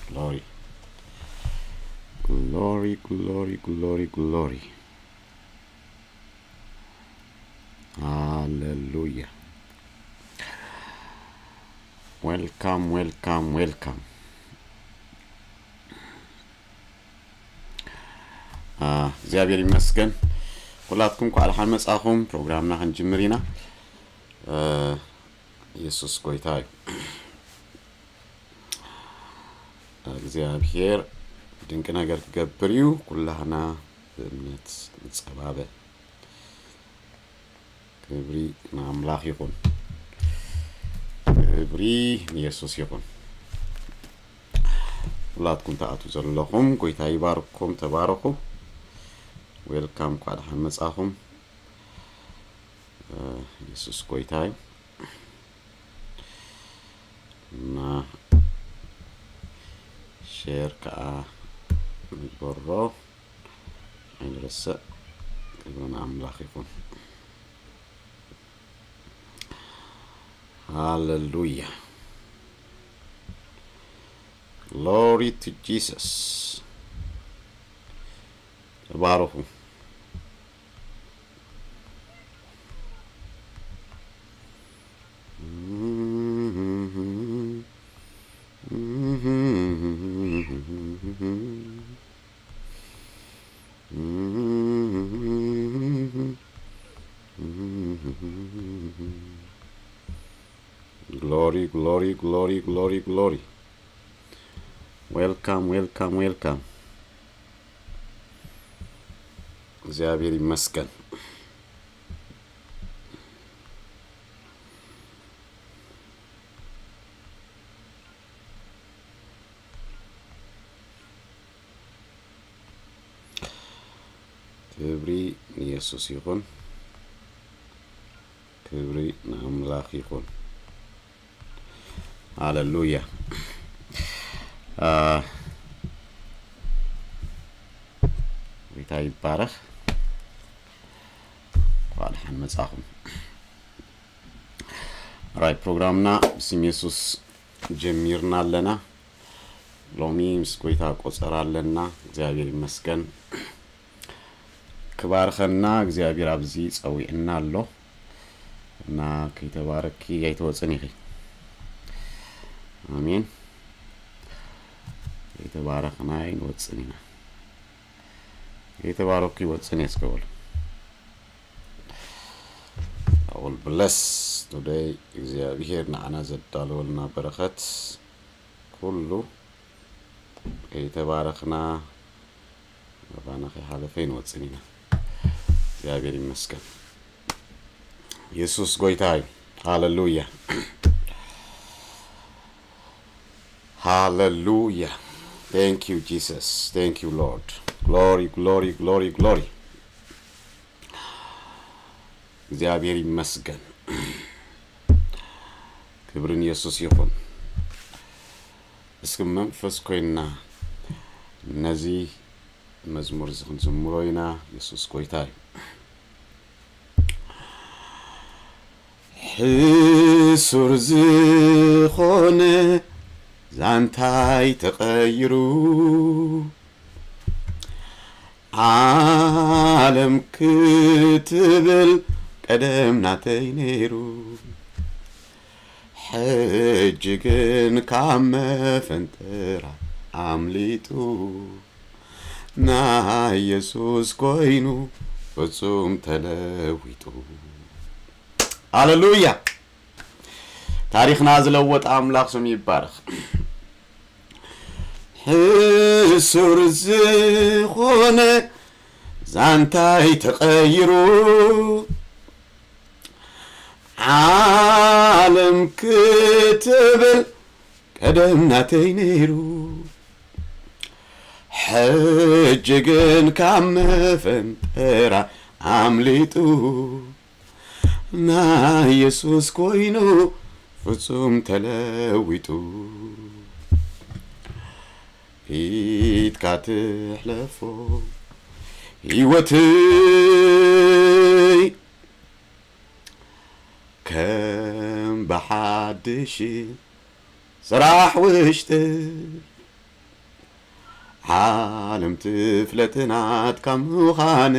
Glory. Glory, glory, glory, glory. Hallelujah. Welcome, welcome, welcome. እግዚኣብሔር ይመስገን። ኩላትኩም እንኳዕ ደሓን መጻኹም። ፕሮግራምና ክንጅምር ኢና። የሱስ ጎይታ እዩ። እግዚኣብሔር ድንቂ ነገር ክገብር እዩ። ኩላህና ብእምነት ንጸባበ። ክብሪ ንኣምላኽ ይኹን። ክብሪ ንየሱስ ይኹን። ኩላትኩም ትኣትዉ ዘለኹም ጎይታ ይባርኩም። ተባረኹ። ዌልካም፣ እንኳዕ ደሓን መጻኹም። የሱስ ጎይታ እዩ። እና ሼር ከዓ ንግበሮ ኣይንረስዕ። ክብሪ ንኣምላኽ ይኹን። ሃለሉያ። Glory to Jesus። ተባረኹ። Glory, glory, glory, glory, glory. Welcome, welcome, welcome. እግዚኣብሔር ይመስገን። ክብሪ ንየሱስ ይኹን። ክብሪ ንኣምላኽ ይኹን። ሃለሉያ። አ፣ ጎይታ ይባረኽ። እንኳዕ ደሓን መጻኹም። ራይ ፕሮግራምና ብስም የሱስ ጀሚርና ኣለና። ሎሚ ምስ ጎይታ ቆጸራ ኣለና። እግዚኣብሔር ይመስገን። ክባርኸና እግዚኣብሔር ኣብዚ ጸዊዕና ኣሎ። እና ከይተባረኪ ኣይትወጽን ኢኺ። ኣሜን። ከይተባረኽና ኣይንወጽን ኢና። ከይተባረኩ ይወጽን እየ እስከ በሉ። I will bless today። እግዚኣብሔር ንዓና ዘዳለወልና በረኸት ኩሉ ከይተባረኽና ኣባና ከይሓለፈ ይንወጽን ኢና። እግዚኣብሔር ይመስገን። የሱስ ጎይታ እዩ። ሃለሉያ። ሃለሉያ። Thank you Jesus. Thank you Lord. Glory, glory, glory, glory. እግዚኣብሔር ይመስገን። ክብሪ ንየሱስ ይኹን። እስኪ መንፈስ ኮይንና ነዚ መዝሙር እዚ ክንዝምሮ ኢና። የሱስ ጎይታ እዩ። ሕሱር ዝኾነ ዛንታይ ተቐይሩ፣ ዓለም ክትብል ቀደም ናተይ ነይሩ። ሕጂ ግን ካብ መፈንጠራ ኣምሊጡ፣ ናይ የሱስ ኮይኑ ፍጹም ተለዊጡ። ሃለሉያ። ታሪኽና ዝለወጠ ኣምላኽ ስሙ ይባረኽ። ሕሱር ዝኾነ ዛንታይ ተቐይሩ፣ ዓለም ክትብል ቀደም ናተይ ነይሩ። ሕጂ ግን ካብ መፈንጠራ ኣምሊጡ፣ ናይ የሱስ ኮይኑ ፍጹም ተለዊጡ። ኢድካ ትሕለፎ ህይወትይ ከም ብሓድሽ ስራሕ ውሽጥይ። ዓለም ትፍለጥ ናትካ ምዃን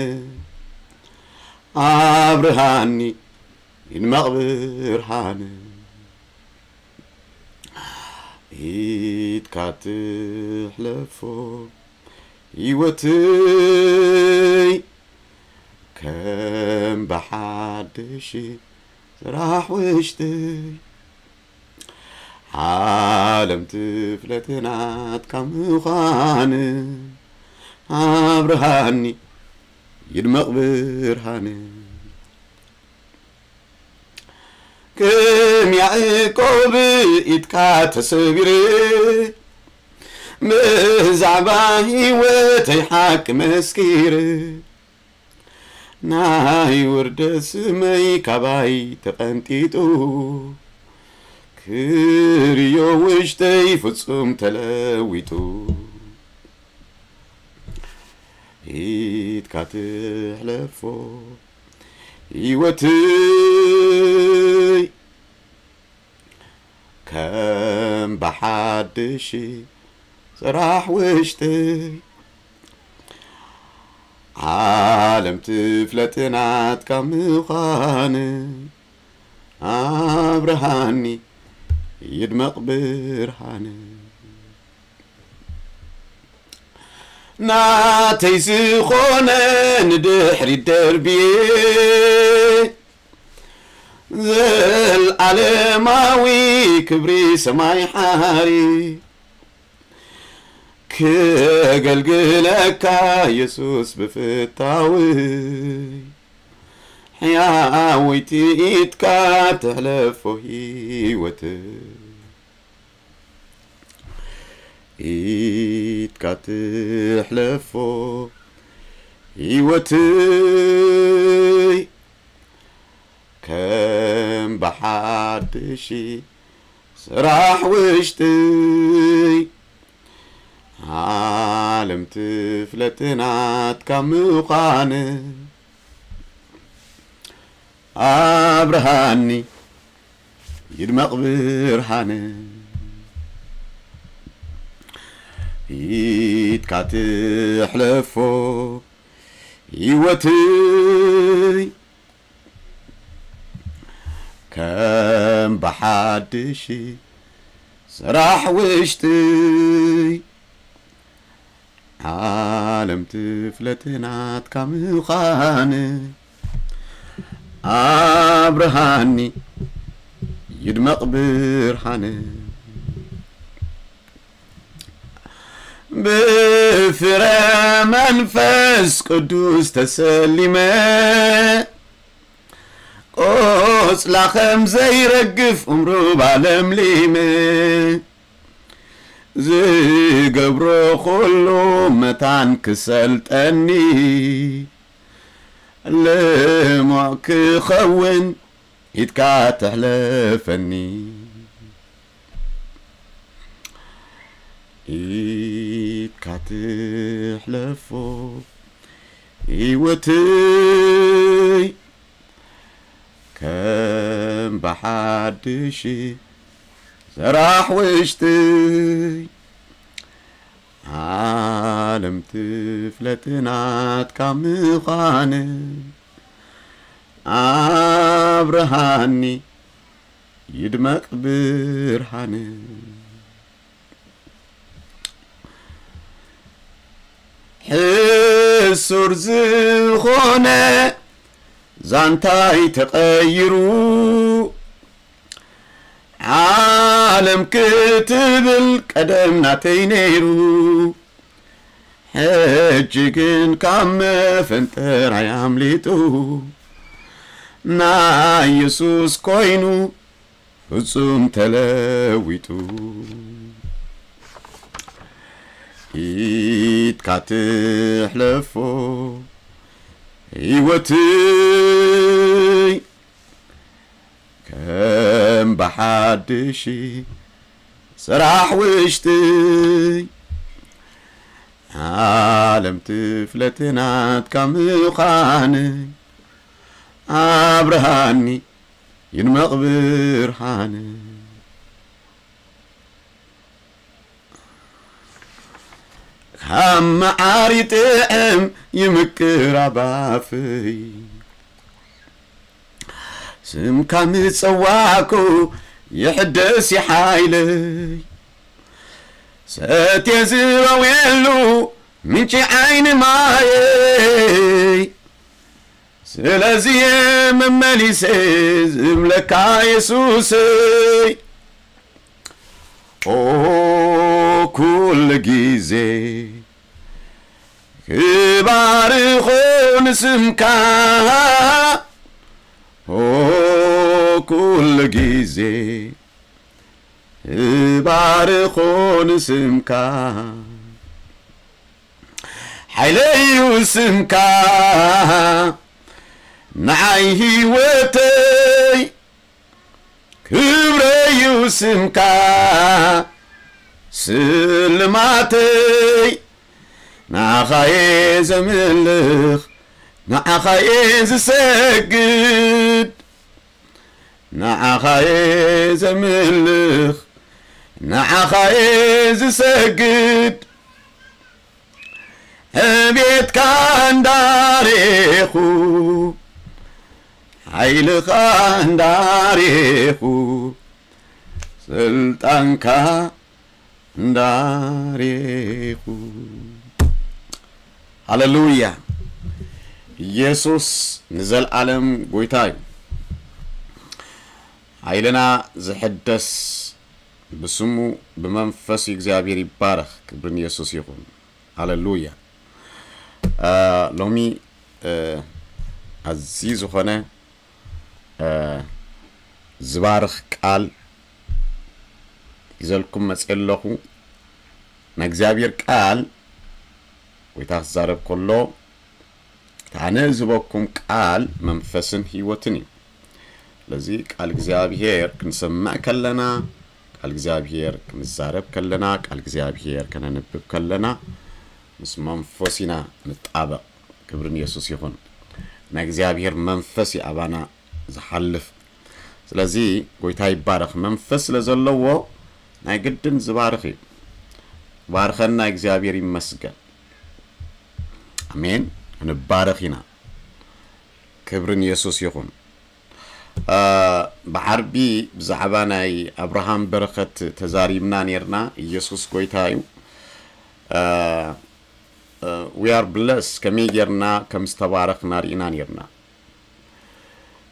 ኣብርሃኒ ይድመቕ ብርሃን። ኢድካ ትሕለፎ ህይወትይ ከም ብሓድሽ ስራሕ ውሽጥይ ዓለም ትፍለጥ ናትካ ምዃን ኣብርሃኒ ይድመቕ ብርሃን። ከም ያዕቆብ ኢድካ ተሰቢረ ብዛዕባ ህይወተይ ሓቂ መስኪረ ናይ ውርደት ስመይ ካባይ ተቐንጢጡ ክርዮ ውሽጠይ ፍጹም ተለዊጡ። ኢድካ ትሕለፎ ህይወትይ ከም ብሓድሽ ስራሕ ውሽጥይ ዓለም ትፍለጥ ናትካ ምዃን ኣብርሃኒ ይድመቕ ብርሃን። ናተይ ዝኾነ ንድሕሪት ደርብየ ዘልዓለማዊ ክብሪ ሰማይ ሓሪ ክገልግለካ የሱስ ብፍታውይ ሕያወይቲ ኢድካ ተሕለፎ ህይወት ኢድካ ትሕለፎ ህይወትይ ከም ብሓድሽ ስራሕ ውሽጥይ ዓለም ትፍለጥ ናትካ ምዃን ኣብርሃኒ ይድመቕ ብርሃን። ኢድካ ትሕለፎ ህይወትይ ከም ብሓድሽ ስራሕ ውሽጥይ ዓለም ትፍለጥ ናትካ ምዃን ኣብርሃኒ ይድመቕ ብርሃን። ብፍረ መንፈስ ቅዱስ ተሰሊመ ቆጽላ ከም ዘይረግፍ እምሩባ ለምሊመ ዝገብሮ ኩሉ መታን ክሰልጠኒ ልሙዕ ክኸውን ኢድካ ተሕለፈኒ። ኢድካ ትሕለፎ ህይወትይ ከም ብሓድሽ ስራሕ ውሽጥይ ዓለም ትፍለጥ ናትካ ምዃን ኣብርሃኒ ይድመቕ ብርሃን። ሕሱር ዝኾነ ዛንታይ ተቐይሩ ዓለም ክትብል ቀደም ናተይ ነይሩ። ሕጂ ግን ካብ መፈንጠራይ ኣምሊጡ ናይ የሱስ ኮይኑ ፍጹም ተለዊጡ። ኢድካ ትሕለፎ ህይወትይ ከም ብሓድሽ ስራሕ ውሽጥይ ዓለም ትፍለጥ ናትካ ምዃን ኣብርሃኒ ይድመቕ ብርሃን። ኣብ መዓር ይጥዕም ይምቅር ኣብ ኣፈይ። ስምካ ምጸዋዕኩ ይሕደስ ይሓይለይ። ሰትየ ዝበውየሉ ምንጪ ዓይኒ ማየይ። ስለዚ እየ መመሊሰ ዝብለካ የሱሰይ። ኦ ኩሉ ግዜ ክባርኾ ንስምካ። ኦ ኩሉ ግዜ ክባርኾ ንስምካ። ሓይለዩ ስምካ ንዓይ ህይወተይ። ክብረዩ ስምካ ስልማተይ። ንዓኻየ ዘምልኽ፣ ንዓኻየ ዝሰግድ፣ ንዓኻየ ዘምልኽ፣ ንዓኻየ ዝሰግድ። ዕቤትካ እንዳሬኹ፣ ሓይልኻ እንዳሬኹ፣ ስልጣንካ እንዳሬኹ። ሃለሉያ። ኢየሱስ ንዘልኣለም ጎይታ እዩ። ሓይልና ዝሕደስ ብስሙ ብመንፈስ እግዚኣብሔር ይባረኽ። ክብርን ኢየሱስ ይኹን። ሃለሉያ። ሎሚ ኣዝዩ ዝኾነ ዝባርኽ ቃል ይዘልኩም መፅእ ኣለኹ። ናይ እግዚኣብሔር ቃል ጎይታ ክዛረብ ከሎ፣ እቲ ኣነ ዝህበኩም ቃል መንፈስን ህይወትን እዩ። ስለዚ ቃል እግዚኣብሔር ክንሰምዕ ከለና፣ ቃል እግዚኣብሔር ክንዛረብ ከለና፣ ቃል እግዚኣብሔር ከነንብብ ከለና ምስ መንፈስ ኢና ንጣበቕ። ክብርን የሱስ ይኹን። ናይ እግዚኣብሔር መንፈስ እዩ ኣባና ዝሓልፍ። ስለዚ ጎይታ ይባረኽ። መንፈስ ስለ ዘለዎ ናይ ግድን ዝባርኽ እዩ። ባርኸና እግዚኣብሔር ይመስገን። ኣሜን። ንባረኽ ኢና። ክብርን የሱስ ይኹን። ብዓርቢ ብዛዕባ ናይ ኣብርሃም በረኸት ተዛሪብና ኔርና። ኢየሱስ ጎይታ እዩ። We are blessed፣ ከመይ ጌርና ከም ዝተባረኽና ርኢና ኔርና።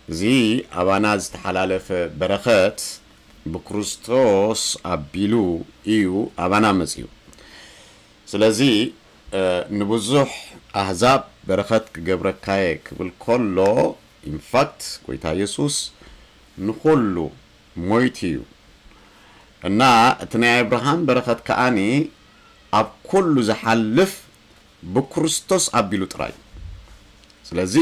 እዚ ኣባና ዝተሓላለፈ በረኸት ብክርስቶስ ኣቢሉ እዩ ኣባና መጺኡ። ስለዚ ንብዙሕ ኣህዛብ በረኸት ክገብረካየ ክብል ከሎ፣ ኢንፋክት ጎይታ የሱስ ንኹሉ ሞይቱ እዩ። እና እቲ ናይ ኣብርሃም በረኸት ከኣኒ ኣብ ኩሉ ዝሓልፍ ብክርስቶስ ኣቢሉ ጥራይ። ስለዚ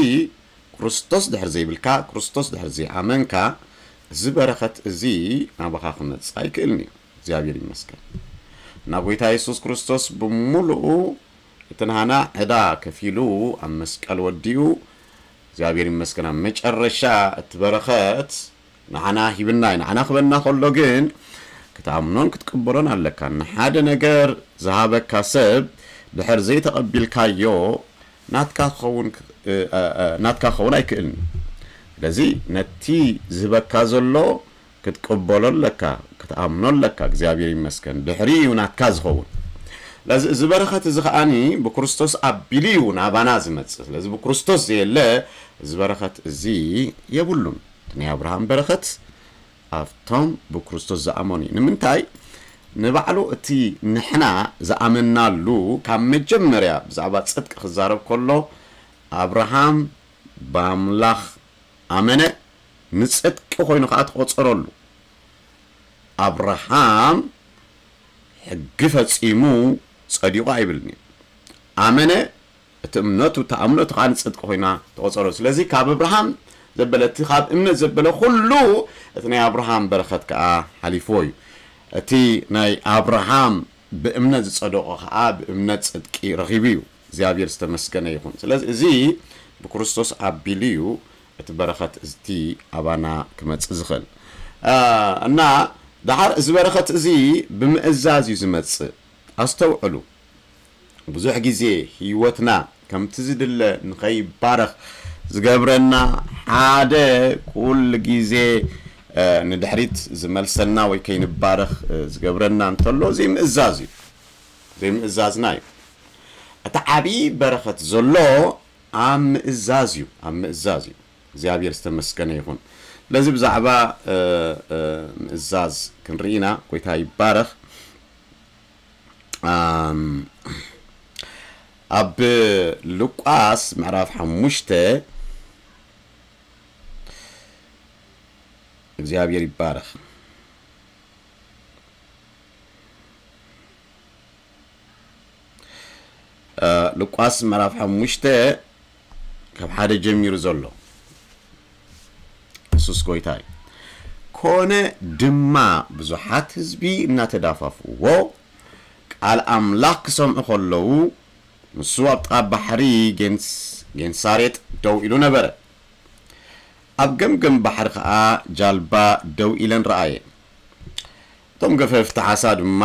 ክርስቶስ ድሕር ዘይብልካ፣ ክርስቶስ ድሕር ዘይኣመንካ፣ እዚ በረኸት እዚ ናባኻ ክመጽእ ኣይክእልን እዩ። እግዚኣብሔር ይመስገን። እና ጎይታ የሱስ ክርስቶስ ብምሉኡ እቲ ናህና ዕዳ ከፊሉ ኣብ መስቀል ወዲኡ፣ እግዚኣብሔር ይመስገን፣ ኣብ መጨረሻ እቲ በረኸት ንዓና ሂብና እዩ። ንዓና ክበና ከሎ ግን ክትኣምኖን ክትቅበሎን ኣለካ። ንሓደ ነገር ዝሃበካ ሰብ ድሕር ዘይተቐቢልካዮ ናትካ ክኸውን ክ-፣ እ፣ እ፣ እ፣ ናትካ ክኸውን ኣይክእልን። ስለዚ ነቲ ዝህበካ ዘሎ ክትቅበሎ ኣለካ፣ ክትኣምኖ ኣለካ። እግዚኣብሔር ይመስገን። ድሕሪ እዩ ናትካ ዝኸውን። ስለዚ እዚ በረኸት እዚ ከኣኒ ብክርስቶስ ኣቢሉ እዩ ናባና ዝመጽእ። ስለዚ ብክርስቶስ ዘየለ እዚ በረኸት እዚ የብሉን። እቲ ናይ ኣብርሃም በረኸት ኣብቶም ብክርስቶስ ዝኣመኑ እዩ። ንምንታይ? ንባዕሉ እቲ ንሕና ዝኣመናሉ ካብ መጀመርያ ብዛዕባ ጽድቂ ክዛረብ ከሎ ኣብርሃም ብኣምላኽ ኣመነ፣ ንጽድቂ ኮይኑ ከኣ ተቖጸረሉ። ኣብርሃም ሕጊ ፈጺሙ ጸዲቑ ኣይብልን እዩ። ኣመነ፣ እቲ እምነቱ፣ እታ እምነቱ ከኣ ንጽድቂ ኮይና ተቖጸረሉ። ስለዚ ካብ ኣብርሃም ዘበለ፣ እቲ ካብ እምነት ዘበለ ኩሉ እቲ ናይ ኣብርሃም በረኸት ከኣ ሓሊፍዎ እዩ። እቲ ናይ ኣብርሃም ብእምነት ዝጸደቖ ከኣ ብእምነት ጽድቂ ረኺቡ እዩ። እግዚኣብሔር ዝተመስገነ ይኹን። ስለዚ እዚ ብክርስቶስ ኣቢሉ እዩ እቲ በረኸት እቲ ኣባና ክመጽእ ዝኽእል። እ፣ እና ደሓር እዚ በረኸት እዚ ብምእዛዝ እዩ ዝመጽእ። ኣስተውዕሉ። ብዙሕ ግዜ ህይወትና ከምቲ ዝድለ ንኸይባረኽ ዝገብረና ሓደ ኩሉ ግዜ፣ እ፣ ንድሕሪት ዝመልሰና ወይ ከይንባረኽ፣ እ፣ ዝገብረና እንተሎ ዘይምእዛዝ እዩ። ዘይምእዛዝና እዩ። እቲ ዓብዪ በረኸት ዘሎ ኣብ ምእዛዝ እዩ። ኣብ ምእዛዝ እዩ። እግዚኣብሔር ዝተመስገነ ይኹን። ስለዚ ብዛዕባ፣ እ፣ እ፣ ምእዛዝ ክንርኢ ኢና። ጎይታ ይባረኽ። ኣም፣ ኣብ ሉቃስ ምዕራፍ ሓሙሽተ እግዚኣብሔር ይባረኽ። እ፣ ሉቃስ ምዕራፍ ሓሙሽተ ካብ ሓደ ጀሚሩ ዘሎ። የሱስ ጎይታ እዩ። ኮነ ድማ ብዙሓት ህዝቢ እናተዳፋፍዎ ቃል ኣምላኽ ክሰምዑ ከለዉ፣ ንሱ ኣብ ጥቓ ባሕሪ ጌንስ-፣ ጌንሳሬጥ ደው ኢሉ ነበረ። ኣብ ገምገም ባሕሪ ኸኣ ጃልባ ደው ኢለን ረኣየ። እቶም ገፈፍቲ ዓሳ ድማ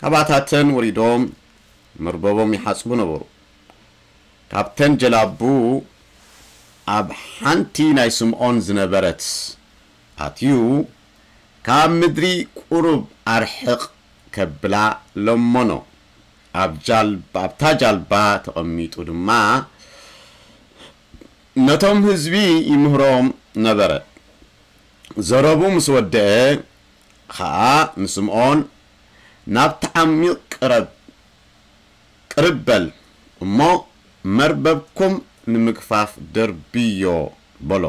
ካባታተን ወሪዶም መርበቦም ይሓጽቡ ነበሩ። ካብተን ጀላቡ ኣብ ሓንቲ ናይ ስምዖን ዝነበረት ኣትዩ፣ ካብ ምድሪ ቁሩብ ኣርሕቕ ከብላ ለመኖ። ኣብ ጃል-፣ ኣብታ ጃልባ ተቐሚጡ ድማ ነቶም ህዝቢ ይምህሮም ነበረ። ዘረቡ ምስ ወደአ ኸኣ ንስምዖን፣ "ናብቲ ዓሚቕ ቅረብ፣ ቅርብ በል እሞ መርበብኩም ንምግፋፍ ደርብዮ" በሎ፣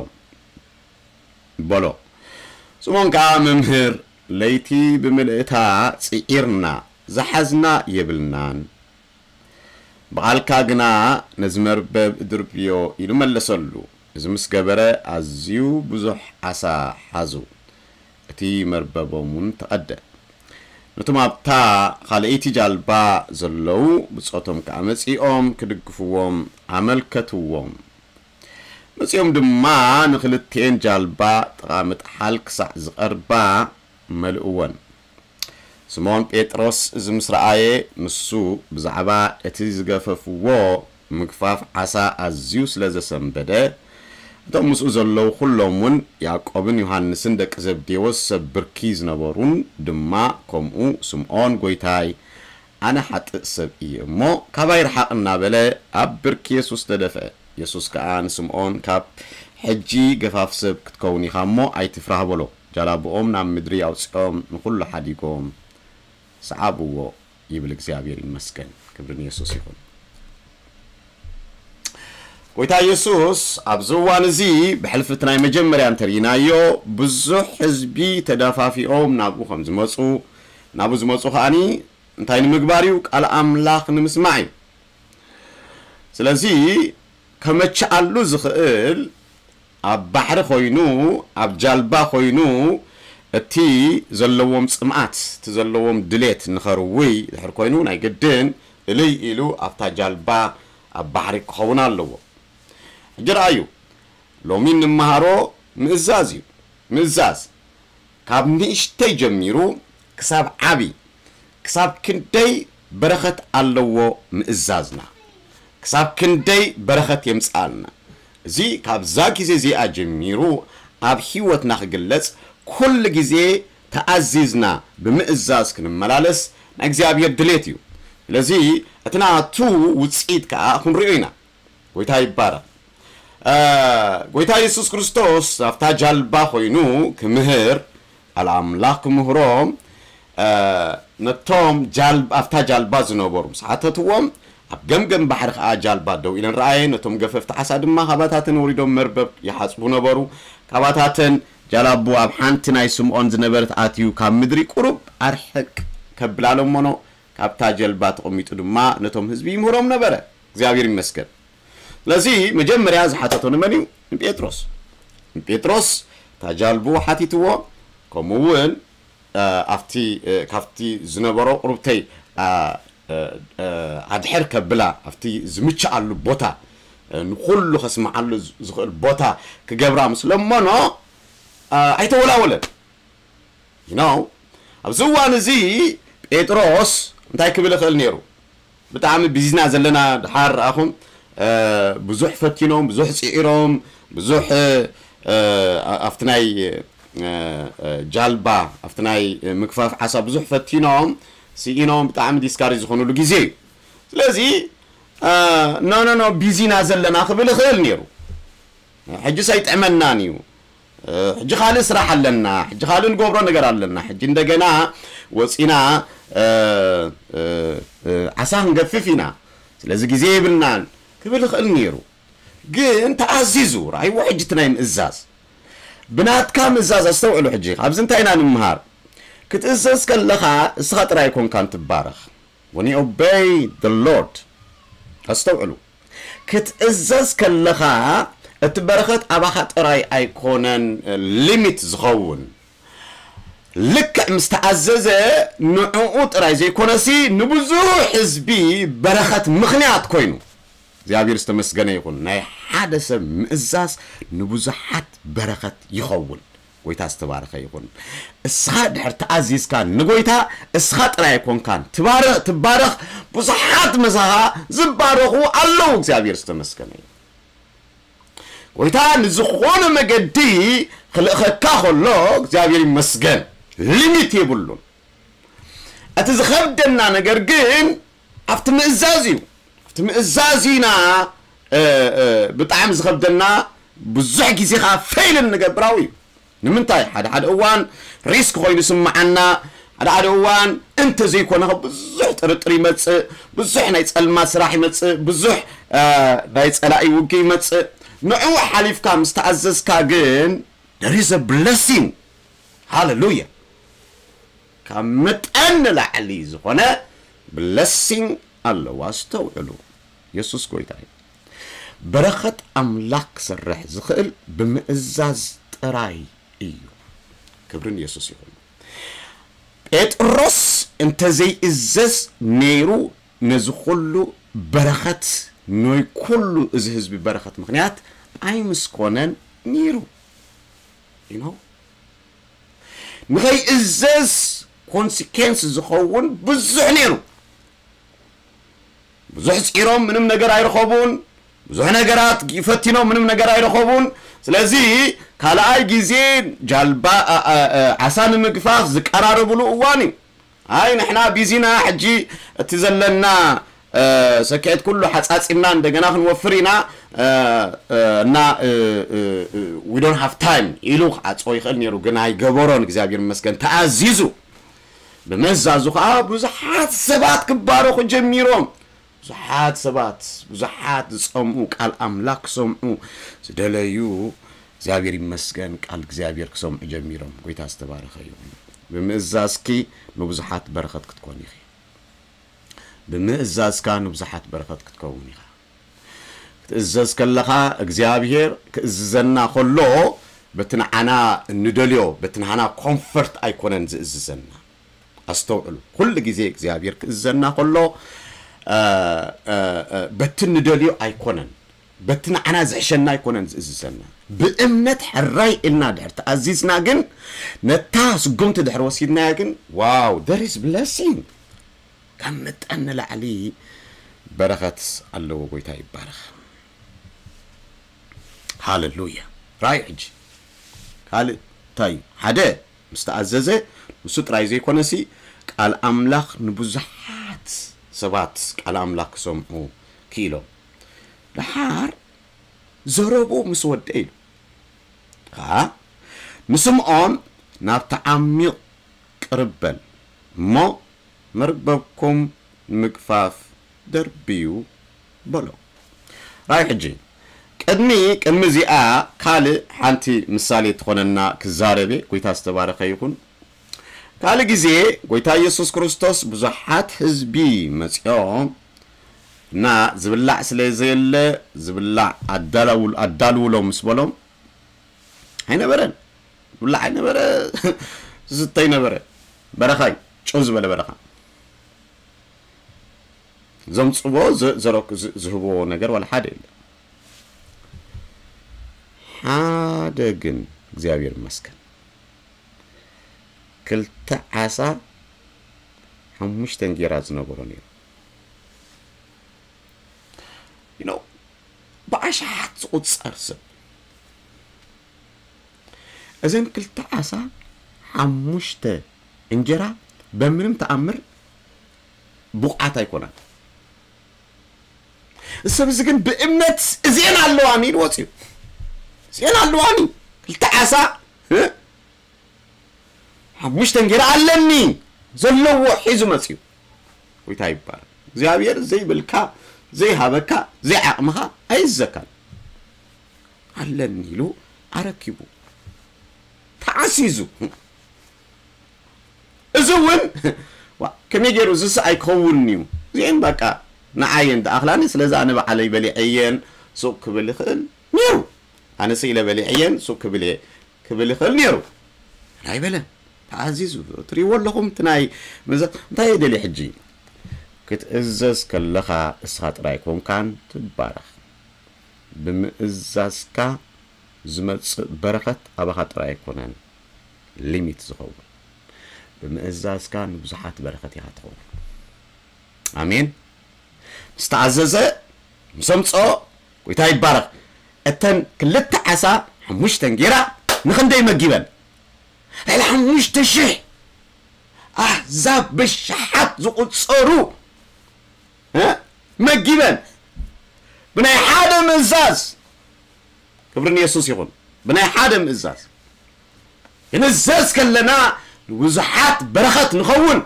በሎ። ስምዖን ከኣ፣ "መምህር፣ ለይቲ ብምልእታ ጽዒርና፣ ዝሓዝና የብልናን። ብቓልካ ግና ነዚ መርበብ እድርብዮ" ኢሉ መለሰሉ። እዚ ምስ ገበረ ኣዝዩ ብዙሕ ዓሳ ሓዙ። እቲ መርበቦም እውን ተቐደ። ነቶም ኣብታ ካልኣይቲ ጃልባ ዘለዉ ብጾቶም ከኣ መጺኦም ክድግፍዎም ኣመልከትዎም። መጺኦም ድማ ንኽልቲኤን ጃልባ ጥቓ ምጥሓል ክሳዕ ዝቐርባ መልእወን። ስምዖን ጴጥሮስ እዚ ምስ ረኣየ፣ ንሱ ብዛዕባ እቲ ዝገፈፍዎ ምግፋፍ ዓሳ ኣዝዩ ስለ ዘሰንበደ፣ እቶም ምስኡ ዘለዉ ኵሎም እውን፣ ያዕቆብን ዮሃንስን ደቂ ዘብዴዎስ ሰብ ብርኪ ዝነበሩን ድማ ከምኡ፣ "ስምዖን ጐይታይ፣ ኣነ ሓጥእ ሰብ እየ እሞ፣ ካባይ ርሓቕ" እናበለ ኣብ ብርኪ የሱስ ተደፍአ። የሱስ ከኣ ንስምዖን፣ "ካብ ሕጂ ገፋፍ ሰብ ክትከውን ኢኻ እሞ ኣይትፍራህ" በሎ። ጃላብኦም ናብ ምድሪ ኣውጺኦም ንኹሉ ሓዲጎም ሰዓብዎ ይብል። እግዚኣብሔር ይመስገን። ክብሪ ንየሱስ ይኹን። ጎይታ የሱስ ኣብዚ እዋን እዚ ብሕልፊ እቲ ናይ መጀመርያ እንተርኢናዮ፣ ብዙሕ ህዝቢ ተደፋፊኦም ናብኡ ከም ዝመጹ፣ ናብኡ ዝመጹ ከኣኒ እንታይ ንምግባር እዩ? ቃል ኣምላኽ ንምስማዕ እዩ። ስለዚ ከመችኣሉ ዝኽእል ኣብ ባሕሪ ኮይኑ፣ ኣብ ጃልባ ኮይኑ፣ እቲ ዘለዎም ጽምኣት፣ እቲ ዘለዎም ድሌት ንኸርውይ ድሕር ኮይኑ፣ ናይ ግድን እልይ ኢሉ ኣብታ ጃልባ ኣብ ባሕሪ ክኸውን ኣለዎ። ሕጂ ረኣዩ፣ ሎሚ እንመሃሮ ምእዛዝ እዩ። ምእዛዝ ካብ ንእሽተይ ጀሚሩ ክሳብ ዓቢ፣ ክሳብ ክንደይ በረኸት ኣለዎ ምእዛዝና፣ ክሳብ ክንደይ በረኸት የምጽኣልና። እዚ ካብዛ ግዜ እዚኣ ጀሚሩ ኣብ ህይወትና ክግለጽ፣ ኩሉ ግዜ ተኣዚዝና ብምእዛዝ ክንመላለስ ናይ እግዚኣብሔር ድሌት እዩ። ስለዚ እቲ ናቱ ውጽኢት ከኣ ክንሪኦ ኢና። ጎይታ ይባረኽ። እ፣ ጎይታ የሱስ ክርስቶስ ኣብታ ጃልባ ኮይኑ ክምህር፣ ቃል ኣምላኽ ክምህሮም፣ እ፣ ነቶም ጃል-፣ ኣብታ ጃልባ ዝነበሩ ምስ ሓተትዎም፣ ኣብ ገምገም ባሕሪ ከኣ ጃልባ ደው ኢለን ረኣየ፣ ነቶም ገፈፍቲ ዓሳ ድማ ካባታተን ወሪዶም መርበብ ይሓጽቡ ነበሩ። ካባታተን ጃላቡ ኣብ ሓንቲ ናይ ስምዖን ዝነበረት ኣትዩ፣ ካብ ምድሪ ቁሩብ ኣርሕቅ ከብላ ለመኖ። ካብታ ጀልባ ተቐሚጡ ድማ ነቶም ህዝቢ ይምህሮም ነበረ። እግዚኣብሔር ይመስገን። ስለዚ መጀመርያ ዝሓተቶ ንመን እዩ? ንጴጥሮስ። ንጴጥሮስ እታ ጃልቡ ሓቲትዎ፣ ከምኡ እውን፣ እ፣ ኣብቲ፣ እ፣ ካብቲ ዝነበሮ ቁሩብተይ፣ እ፣ እ፣ እ፣ ኣድሕር ከብላ፣ ኣብቲ ዝምችኣሉ ቦታ፣ እ፣ ንኹሉ ከስምዓሉ ዝ-፣ ዝኽእል ቦታ ክገብራ ምስ ለመኖ፣ እ፣ ኣይተወላወለን። You know፣ ኣብዚ እዋን እዚ ጴጥሮስ እንታይ ክብል ይኽእል ነይሩ? ብጣዕሚ ቢዚና ዘለና ድሓር ኣኹም ብዙሕ ፈቲኖም ብዙሕ ፅዒሮም ብዙሕ ኣብቲ ናይ ጃልባ ኣብቲ ናይ ምግፋፍ ዓሳ ብዙሕ ፈቲኖም ስኢኖም ብጣዕሚ ዲስካሪ ዝኾኑሉ ግዜ እዩ። ስለዚ ኖ ኖ ኖ ቢዚና ዘለና ክብል ይኽእል ነይሩ። ሕጂ ሰይጥዕመናን እዩ። ሕጂ ካልእ ስራሕ ኣለና፣ ሕጂ ካልእ ንገብሮ ነገር ኣለና፣ ሕጂ እንደገና ወፂና ዓሳ ክንገፍፍ ኢና፣ ስለዚ ግዜ የብልናን ክብል ይኽእል ነይሩ። ግን ተኣዚዙ ራይዎ ሕጂ እቲ ናይ ምእዛዝ ብናትካ ምእዛዝ ኣስተውዕሉ። ሕጂ ኣብዚ እንታይ ኢና ንምሃር? ክትእዘዝ ከለኻ እስኻ ጥራይ ኣይኮንካን ትባረኽ። When you obey the Lord ኣስተውዕሉ። ክትእዘዝ ከለኻ እቲ በረኸት ኣባኻ ጥራይ ኣይኮነን ሊሚት ዝኸውን። ልክዕ ምስ ተኣዘዘ ንዕኡ ጥራይ ዘይኮነሲ ንብዙሕ ህዝቢ በረኸት ምኽንያት ኮይኑ እግዚኣብሔር ዝተመስገነ ይኹን። ናይ ሓደ ሰብ ምእዛዝ ንብዙሓት በረኸት ይኸውን። ጎይታ ዝተባረኸ ይኹን። እስኻ ድሕር ተኣዚዝካ ንጎይታ እስኻ ጥራይ ኣይኮንካን ትባረኽ ትባረኽ። ብዙሓት መሳኻ ዝባረኹ ኣለዉ። እግዚኣብሔር ዝተመስገነ ይኹን። ጎይታ ንዝኾነ መገዲ ክልእኸካ ከሎ እግዚኣብሔር ይመስገን ሊሚት የብሉን። እቲ ዝኸብደና ነገር ግን ኣብቲ ምእዛዝ እዩ። ኣብቲ ምእዛዝ ኢና ብጣዕሚ ዝኸብደና። ብዙሕ ግዜ ከዓ ፌይልን ንገብራዊ እዩ። ንምንታይ ሓደ ሓደ እዋን ሪስክ ኮይኑ ይስምዓና። ሓደ ሓደ እዋን እንተዘይኮነ ብዙሕ ጥርጥር ይመፅእ፣ ብዙሕ ናይ ፀልማት ስራሕ ይመፅእ፣ ብዙሕ ናይ ፀላኢ ውግእ ይመፅእ። ንዕኡ ሓሊፍካ ምስ ተኣዘዝካ ግን there is a blessing. ሃለሉያ። ካብ መጠን ንላዕሊ ዝኾነ ብለሲንግ ኣለዋ። ኣስተውዕሉ። የሱስ ጎይታ እዩ። በረኸት ኣምላኽ ክሰርሕ ዝኽእል ብምእዛዝ ጥራይ እዩ። ክብርን የሱስ ይኹን። ጴጥሮስ እንተዘይእዘዝ ነይሩ ነዚ ኩሉ በረኸት ናይ ኩሉ እዚ ህዝቢ በረኸት ምኽንያት ኣይምስኮነን ነይሩ። You know? ንኸይእዘዝ ኮንሲኬንስ ዝኸውን ብዙሕ ነይሩ። ብዙሕ ፂሮም ምንም ነገር ኣይረኸቡን። ብዙሕ ነገራት ፈቲኖም ምንም ነገር ኣይረኸቡን። ስለዚ ካልኣይ ግዜ ጃልባ ዓሳ ንምግፋፍ ዝቀራረብሉ እዋን እዩ። ኣይ ንሕና ቢዚና ሕጂ እቲ ዘለና ሰክዕት ኩሉ ሓፃፂምና እንደገና ክንወፍር ኢና እና we don't have time ኢሉ ክዓፅዎ ይኽእል ነይሩ፣ ግን ኣይገበሮን። እግዚኣብሔር ይመስገን ተኣዚዙ። ብምእዛዙ ከዓ ብዙሓት ሰባት ክባረኹ ጀሚሮም። ብዙሓት ሰባት ብዙሓት ዝፀምኡ ቃል ኣምላኽ ክሰምዑ ዝደለዩ እግዚኣብሔር ይመስገን ቃል እግዚኣብሔር ክሰምዑ ጀሚሮም። ጎይታ ዝተባረኸ ይኹን። ብምእዛዝኪ ንብዙሓት በረኸት ክትኮን ኢኺ። ብምእዛዝካ ንብዙሓት በረኸት ክትከውን ኢኻ። ክትእዘዝ ከለኻ እግዚኣብሔር ክእዝዘና ከሎ በቲ ንዓና እንደልዮ በቲ ንዓና ኮንፈርት ኣይኮነን ዝእዝዘና። ኣስተውዕሉ። ኩሉ ግዜ እግዚኣብሔር ክእዝዘና ከሎ በቲ እንደልዮ ኣይኮነን፣ በቲ ንዓና ዝሕሸና ኣይኮነን ዝእዝዘና። ብእምነት ሕራይ ኢልና ድሕር ተኣዚዝና ግን ነታ ስጉምቲ ድሕር ወሲድናያ ግን ዋው there is blessing። ካብ መጠን ንላዕሊ በረኸት ኣለዎ። ጎይታ ይባረኽ። ሃለሉያ። ራይ ሕጂ ካልእ እንታይ ሓደ ምስ ተኣዘዘ ንሱ ጥራይ ዘይኮነሲ ቃል ኣምላኽ ንብዙሓት ሰባት ቃል ኣምላኽ ክሰምዑ ክኢሎም። ደሓር ዘረቡ ምስ ወደ ኢሉ ከዓ ንስምዖን ናብቲ ዓሚቕ ቅርብ በል እሞ መርበብኩም ንምግፋፍ ደርብዩ በሎ። ራይ ሕጂ ቅድሚ ቅድሚ እዚኣ ካልእ ሓንቲ ምሳሌ ትኾነና ክዛረቤ። ጎይታ ዝተባረኸ ይኹን። ካልእ ግዜ ጎይታ ኢየሱስ ክርስቶስ ብዙሓት ህዝቢ መፂኦም እና ዝብላዕ ስለ ዘየለ ዝብላዕ ኣዳልውሎም ምስ በሎም ኣይነበረን። ዝብላዕ ኣይነበረ፣ ዝስተ ኣይነበረ። በረኻ እዩ፣ ጭው ዝበለ በረኻ። ዘምፅዎ ዝህብዎ ነገር ዋላ ሓደ የለ። ሓደ ግን እግዚኣብሔር ይመስገን ክልተ ዓሳ ሓሙሽተ እንጌራ ዝነበሮ ነይሩ። you know ብኣሽሓት ዝቑጸር ሰብ እዘን ክልተ ዓሳ ሓሙሽተ እንጀራ በምንም ተኣምር ብቑዓት ኣይኮናን። እዚ ሰብ እዚ ግን ብእምነት እዚአን ኣለዋኒ ኢሉ ወፂኡ። እዚአን ኣለዋኒ ክልተ ዓሳ እ? ሓሙሽተ እንጀራ ኣለኒ ዘለዎ ሒዙ መፂኡ። ጎይታ ይባረክ። እግዚኣብሔር ዘይብልካ ዘይሃበካ ዘይዓቕምኻ ኣይዘካን ኣለኒ ኢሉ ኣረኪቡ ተዓሲዙ። እዚ እውን ዋ፣ ከመይ ገይሩ እዚስ ኣይከውንን እዩ። እዚአን በቃ ንዓየን ደኣኽላኒ፣ ስለዚ ኣነ ባዕለይ በሊዐየን ሱቕ ክብል ይኽእል ነይሩ። ኣነ ስኢለ በሊዐየን ሱቕ ክብል እየ ክብል ይኽእል ነይሩ። ኣይበለን። ተኣዚዙ ትሪእዎ ኣለኹም። እቲ ናይ ምእዛ-፣ እንታይ እየ ደልየ ሕጂ? ክትእዘዝ ከለኻ እስኻ ጥራይ ኮንካን ትባረኽ። ብምእዛዝካ ዝመጽእ በረኸት ኣባኻ ጥራይ ኣይኮነን ሊሚት ዝኸውን። ብምእዛዝካ ንብዙሓት በረኸት ኢኻ ትኸውን። ኣሜን። ምስ ተኣዘዘ፣ ምስ ኣምጽኦ፣ ጎይታ ይባረኽ። እተን ክልተ ዓሳ ሓሙሽተ እንጌራ ንኽንደይ መጊበን? ልዕሊ ሓሙሽተ ሽሕ ኣህዛብ ብሽሓት ዝቑጸሩ እ? መጊበን ብናይ ሓደ ምእዛዝ። ክብሪ ንየሱስ ይኹን። ብናይ ሓደ ምእዛዝ ክንእዘዝ ከለና ንብዙሓት በረኸት ንኸውን፣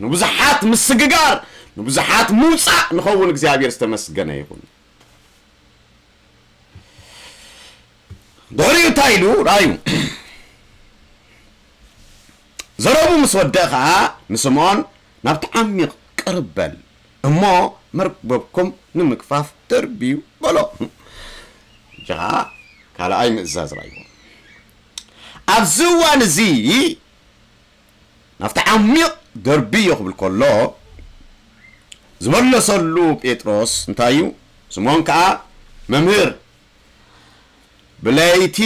ንብዙሓት ምስግጋር፣ ንብዙሓት ምውፃእ ንኸውን። እግዚኣብሔር ዝተመስገነ ይኹን። ድሕሪኡ እንታይ ኢሉ? ራእዩ ዘረቡ ምስ ወደአ ኸዓ ንስምዖን፣ ናብቲ ዓሚቕ ቅርብ በል እሞ መርበብኩም ንምግፋፍ ደርብዩ በሎ። እጃ ካልኣይ ምእዛዝ ራእይዎ። ኣብዚ እዋን እዚ ናብቲ ዓሚቕ ደርብዮ ክብል ከሎ ዝመለሰሉ ጴጥሮስ እንታይ እዩ? ስምዖን ከዓ መምህር፣ ብለይቲ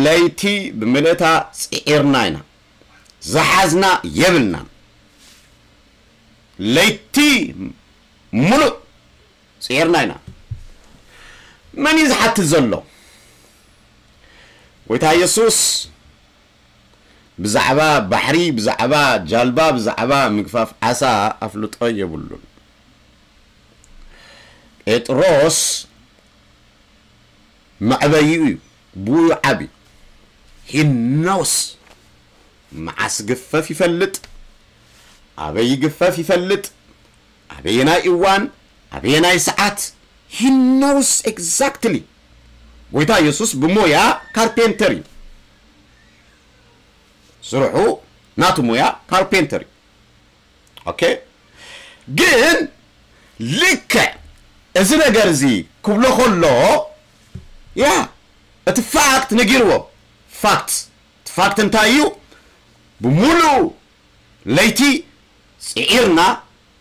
ለይቲ ብምልእታ ጽዒርና ኢና፣ ዝሓዝና የብልናን። ለይቲ ሙሉእ ጽዒርና ኢና። መን እዩ ዝሓትት ዘሎ? ጎይታ የሱስ ብዛዕባ ባሕሪ፣ ብዛዕባ ጃልባ፣ ብዛዕባ ምግፋፍ ዓሳ ኣፍልጦ የብሉን። ጴጥሮስ መዕበይኡ እዩ፣ ብኡ ዓቢ። He knows። መዓስ ግፈፍ ይፈልጥ፣ ኣበይ ይግፈፍ ይፈልጥ፣ ኣበየናይ እዋን፣ ኣበየናይ ሰዓት። He knows exactly። ጎይታ የሱስ ብሞያ ካርፔንተር እዩ። ስርሑ ናቱ ሞያ ካርፔንተር እዩ። ኦኬ። ግን ልክዕ እዚ ነገር እዚ ክብሎ ከሎ ያ እቲ ፋክት ነጊርዎ። ፋክት እቲ ፋክት እንታይ እዩ? ብሙሉእ ለይቲ ጽዒርና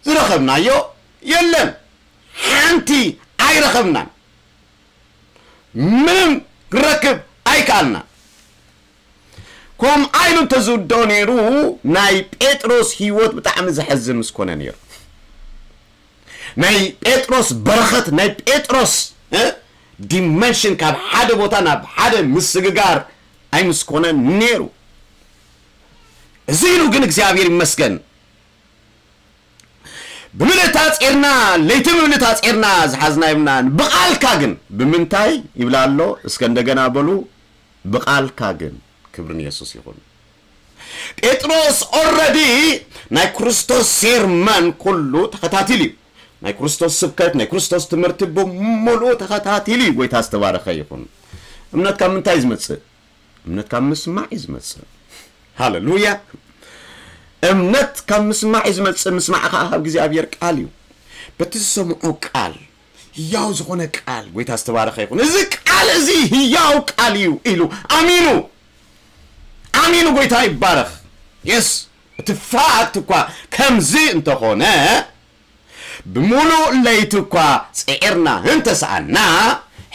ዝረኸብናዮ የለን። ሓንቲ ኣይረኸብናን። ምንም ክረክብ ኣይከኣልናን። ከምኣ ኢሉ እንተዝውድኦ ነይሩ ናይ ጴጥሮስ ህይወት ብጣዕሚ ዘሕዝን ምስ ኮነ ነይሩ። ናይ ጴጥሮስ በረኸት፣ ናይ ጴጥሮስ እ ዲመንሽን ካብ ሓደ ቦታ ናብ ሓደ ምስግጋር ኣይምስኮነን ነይሩ። እዚ ኢሉ ግን እግዚኣብሔር ይመስገን። ብምልእታ ጼርና ለይቲ ብምልእታ ጼርና ዝሓዝና የብልናን። ብቓልካ ግን ብምንታይ ይብላ ኣሎ? እስከ እንደገና በሉ። ብቓልካ ግን። ክብሪ ንየሱስ ይኹን። ጴጥሮስ ኦረዲ ናይ ክርስቶስ ሴርመን ኩሉ ተኸታቲሉ እዩ። ናይ ክርስቶስ ስብከት፣ ናይ ክርስቶስ ትምህርቲ ብምሉኡ ተኸታቲሉ እዩ። ጎይታ ዝተባረኸ ይኹን። እምነት ካብ ምንታይ እዩ ዝመጽእ? እምነት ካብ ምስማዕ እዩ ዝመጽእ። ሃሌሉያ። እምነት ካብ ምስማዕ እዩ ዝመጽእ፣ ምስማዕ ከዓ ካብ እግዚኣብሔር ቃል እዩ። በቲ ዝሰምዖ ቃል፣ ህያው ዝኾነ ቃል፣ ጎይታ ዝተባረኸ ይኹን። እዚ ቃል እዚ ህያው ቃል እዩ ኢሉ ኣሚኑ፣ ኣሚኑ። ጎይታ ይባረኽ። የስ፣ እቲ ፋክት እኳ ከምዚ እንተኾነ፣ ብምሉእ ለይቲ እኳ ጽዒርና እንተሰኣና፣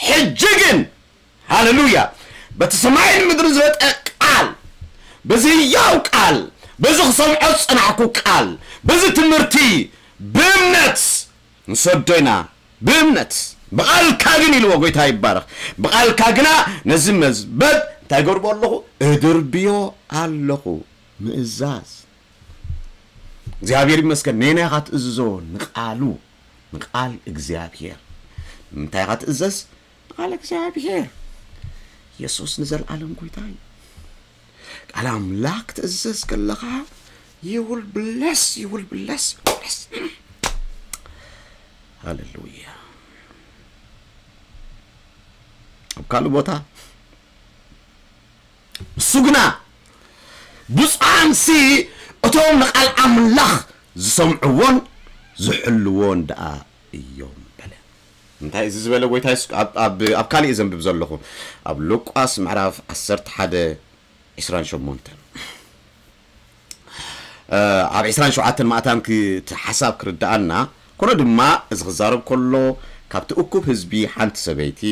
ሕጂ ግን፣ ሃሌሉያ፣ በቲ ሰማይን ምድርን ዝበጠ ቃል፣ በዚ ህያው ቃል፣ በዚ ክሰምዖ ዝጸናሕኩ ቃል፣ በዚ ትምህርቲ ብእምነት ንሰዶ ኢና። ብእምነት፣ ብቓልካ ግን ኢልዎ፣ ጎይታ ይባረኽ። ብቓልካ ግና ነዚ መዝበብ እንታይ ገብርዎ ኣለኹ? እድርብዮ ኣለኹ። ምእዛዝ። እግዚኣብሔር ይመስገን። ነየናይ ኢኻ ትእዝዞ? ንቓሉ፣ ንቓል እግዚኣብሔር። ንምንታይ ኢኻ ትእዘዝ? ንቓል እግዚኣብሔር። የሱስ ንዘለኣለም ጎይታ እዩ። ቃል ኣምላኽ ክትእዘዝ ከለኻ you will bless, you will bless, you will bless. ሃሌሉያ። ኣብ ካልእ ቦታ እሱ ግና ብፁዓንሲ እቶም ንቓል ኣምላኽ ዝሰምዕዎን ዝሕልዎን ደኣ እዮም በለ። እንታይ እዚ ዝበለ ጎይታ የሱስ ኣብ- ኣብ ኣብ ካልእ ዘንብብ ዘለኹ ኣብ ሉቃስ ምዕራፍ ዓሰርተ ሓደ ዕስራን ሸሞንተን ኣብ ዕስራን ሸውዓተን ማእታን እቲ ሓሳብ ክርድኣና ኮነ ድማ እዚ ክዛረብ ከሎ ካብቲ እኩብ ህዝቢ ሓንቲ ሰበይቲ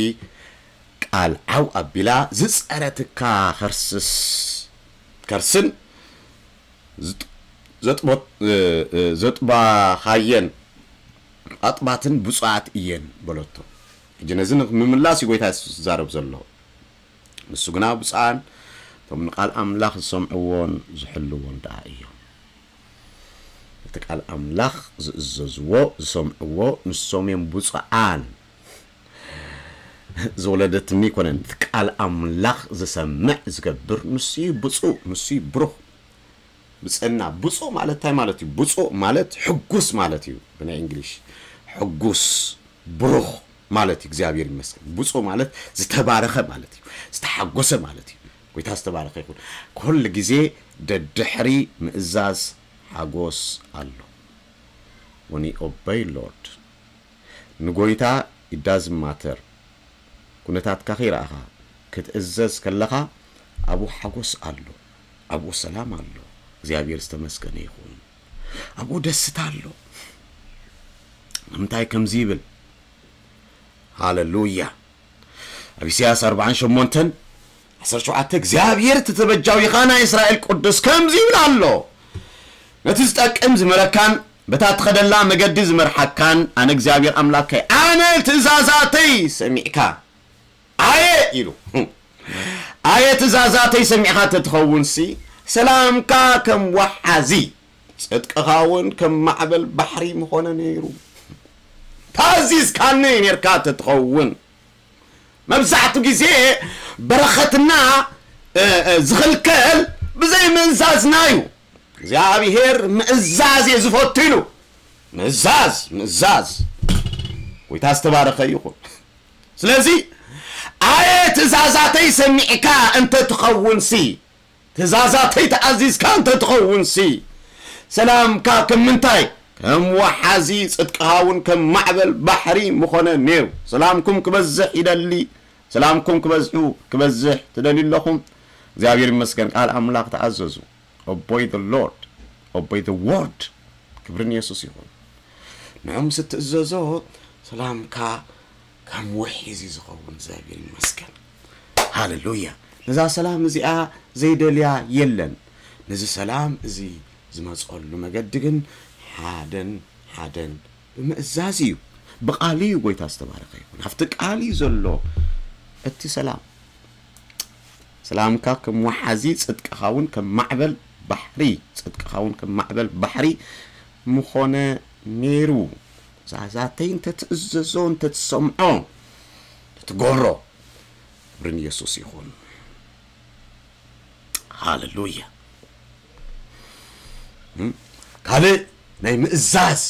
ቃል ዓው ኣቢላ ዝጸረትካ ከርስስ ከርስን ዘጥባኻየን ኣጥባትን ብፁዓት እየን በለቶ። ሕጂ ነዚ ንምምላስ እዩ ጎይታ የሱስ ዝዛረብ ዘሎ። ንሱ ግና ብፁዓን እቶም ንቃል ኣምላኽ ዝሰምዕዎን ዝሕልዎን ደኣ እዮም። እቲ ቃል ኣምላኽ ዝእዘዝዎ ዝሰምዕዎ ንሶም እዮም ብፁዓን። ዝወለደትኒ ኣይኮነን። እቲ ቃል ኣምላኽ ዝሰምዕ ዝገብር ንሱ እዩ ብፁዕ፣ ንሱ እዩ ብሩኽ። ብፅዕና ብፁዕ ማለት እንታይ ማለት እዩ? ብፁዕ ማለት ሕጉስ ማለት እዩ። ብናይ እንግሊሽ ሕጉስ ብሩኽ ማለት እዩ። እግዚኣብሔር ይመስገን። ብፁዕ ማለት ዝተባረኸ ማለት እዩ፣ ዝተሓጎሰ ማለት እዩ። ጎይታ ዝተባረኸ ይኹን። ኩሉ ግዜ ደድሕሪ ምእዛዝ ሓጎስ ኣሎ። When you obey Lord ንጎይታ it doesn't matter ኩነታትካ ከይረኣኻ ክትእዘዝ ከለኻ ኣብኡ ሓጎስ ኣሎ፣ ኣብኡ ሰላም ኣሎ። እግዚኣብሔር ዝተመስገነ ይኹን። ኣብኡ ደስታ ኣሎ። ንምንታይ ከምዚ ይብል? ሃሌሉያ። ኣብ ኢሳያስ ኣርባዓን ሸሞንተን ዓሰርተ ሸውዓተ እግዚኣብሔር እቲ ተበጃዊኻ ናይ እስራኤል ቅዱስ ከምዚ ይብል ኣሎ፣ ነቲ ዝጠቅም ዝመረካን በታ ትኸደላ መገዲ ዝመርሓካን ኣነ እግዚኣብሔር ኣምላከይ ኣነ ትእዛዛተይ ሰሚዕካ ኣየ ኢሉ ኣየ ትእዛዛተይ ሰሚዕካ ተትኸውንሲ ሰላምካ ከም ወሓዚ ጽድቅኻ እውን ከም ማዕበል ባሕሪ ምኾነ ነይሩ። ታዚዝካኒ ነርካ ተትኸውን መብዛሕቱ ግዜ በረኸትና ዝኽልከል ብዘይ ምእዛዝና እዩ። እግዚኣብሔር ምእዛዝ እየ ዝፈቱ ኢሉ ምእዛዝ ምእዛዝ ጎይታ ዝተባረኸ ይኹን። ስለዚ ኣየ ትእዛዛተይ ሰሚዕካ እንተ ትኸውንሲ ትእዛዛተይ ተኣዚዝካ እንተ ትኸውንሲ ሰላምካ ከም ምንታይ ከም ወሓዚ ጽድቅኻ እውን ከም ማዕበል ባሕሪ ምኾነ ነይሩ። ሰላምኩም ክበዝሕ ይደሊ። ሰላምኩም ክበዝሑ ክበዝሕ ትደልዩ ኣለኹም። እግዚኣብሔር ይመስገን። ቃል ኣምላኽ ተኣዘዙ። Obey the Lord, obey the word። ክብርን የሱስ ይኹን። ንዑ ምስ እትእዘዞ ሰላምካ ከም ውሒዝ እዩ ዝኸውን። እግዚኣብሔር ይመስገን። ሃሌሉያ። ነዛ ሰላም እዚኣ ዘይደልያ የለን። ነዚ ሰላም እዚ ዝመፀሉ መገዲ ግን ሓደን ሓደን ብምእዛዝ እዩ። ብቃሉ እዩ። ጎይታ ዝተባረኸ ይኹን። ኣብቲ ቃል እዩ ዘሎ እቲ ሰላም። ሰላምካ ከም ወሓዚ ጽድቅኻ እውን ከም ማዕበል ባሕሪ ጽድቅኻ እውን ከም ማዕበል ባሕሪ ምኾነ ነይሩ። ትእዛዛተይ እንተትእዘዞ እንተትሰምዖ እንተትገብሮ ክብርን የሱስ ይኹን። ሃሌሉያ። ካልእ ናይ ምእዛዝ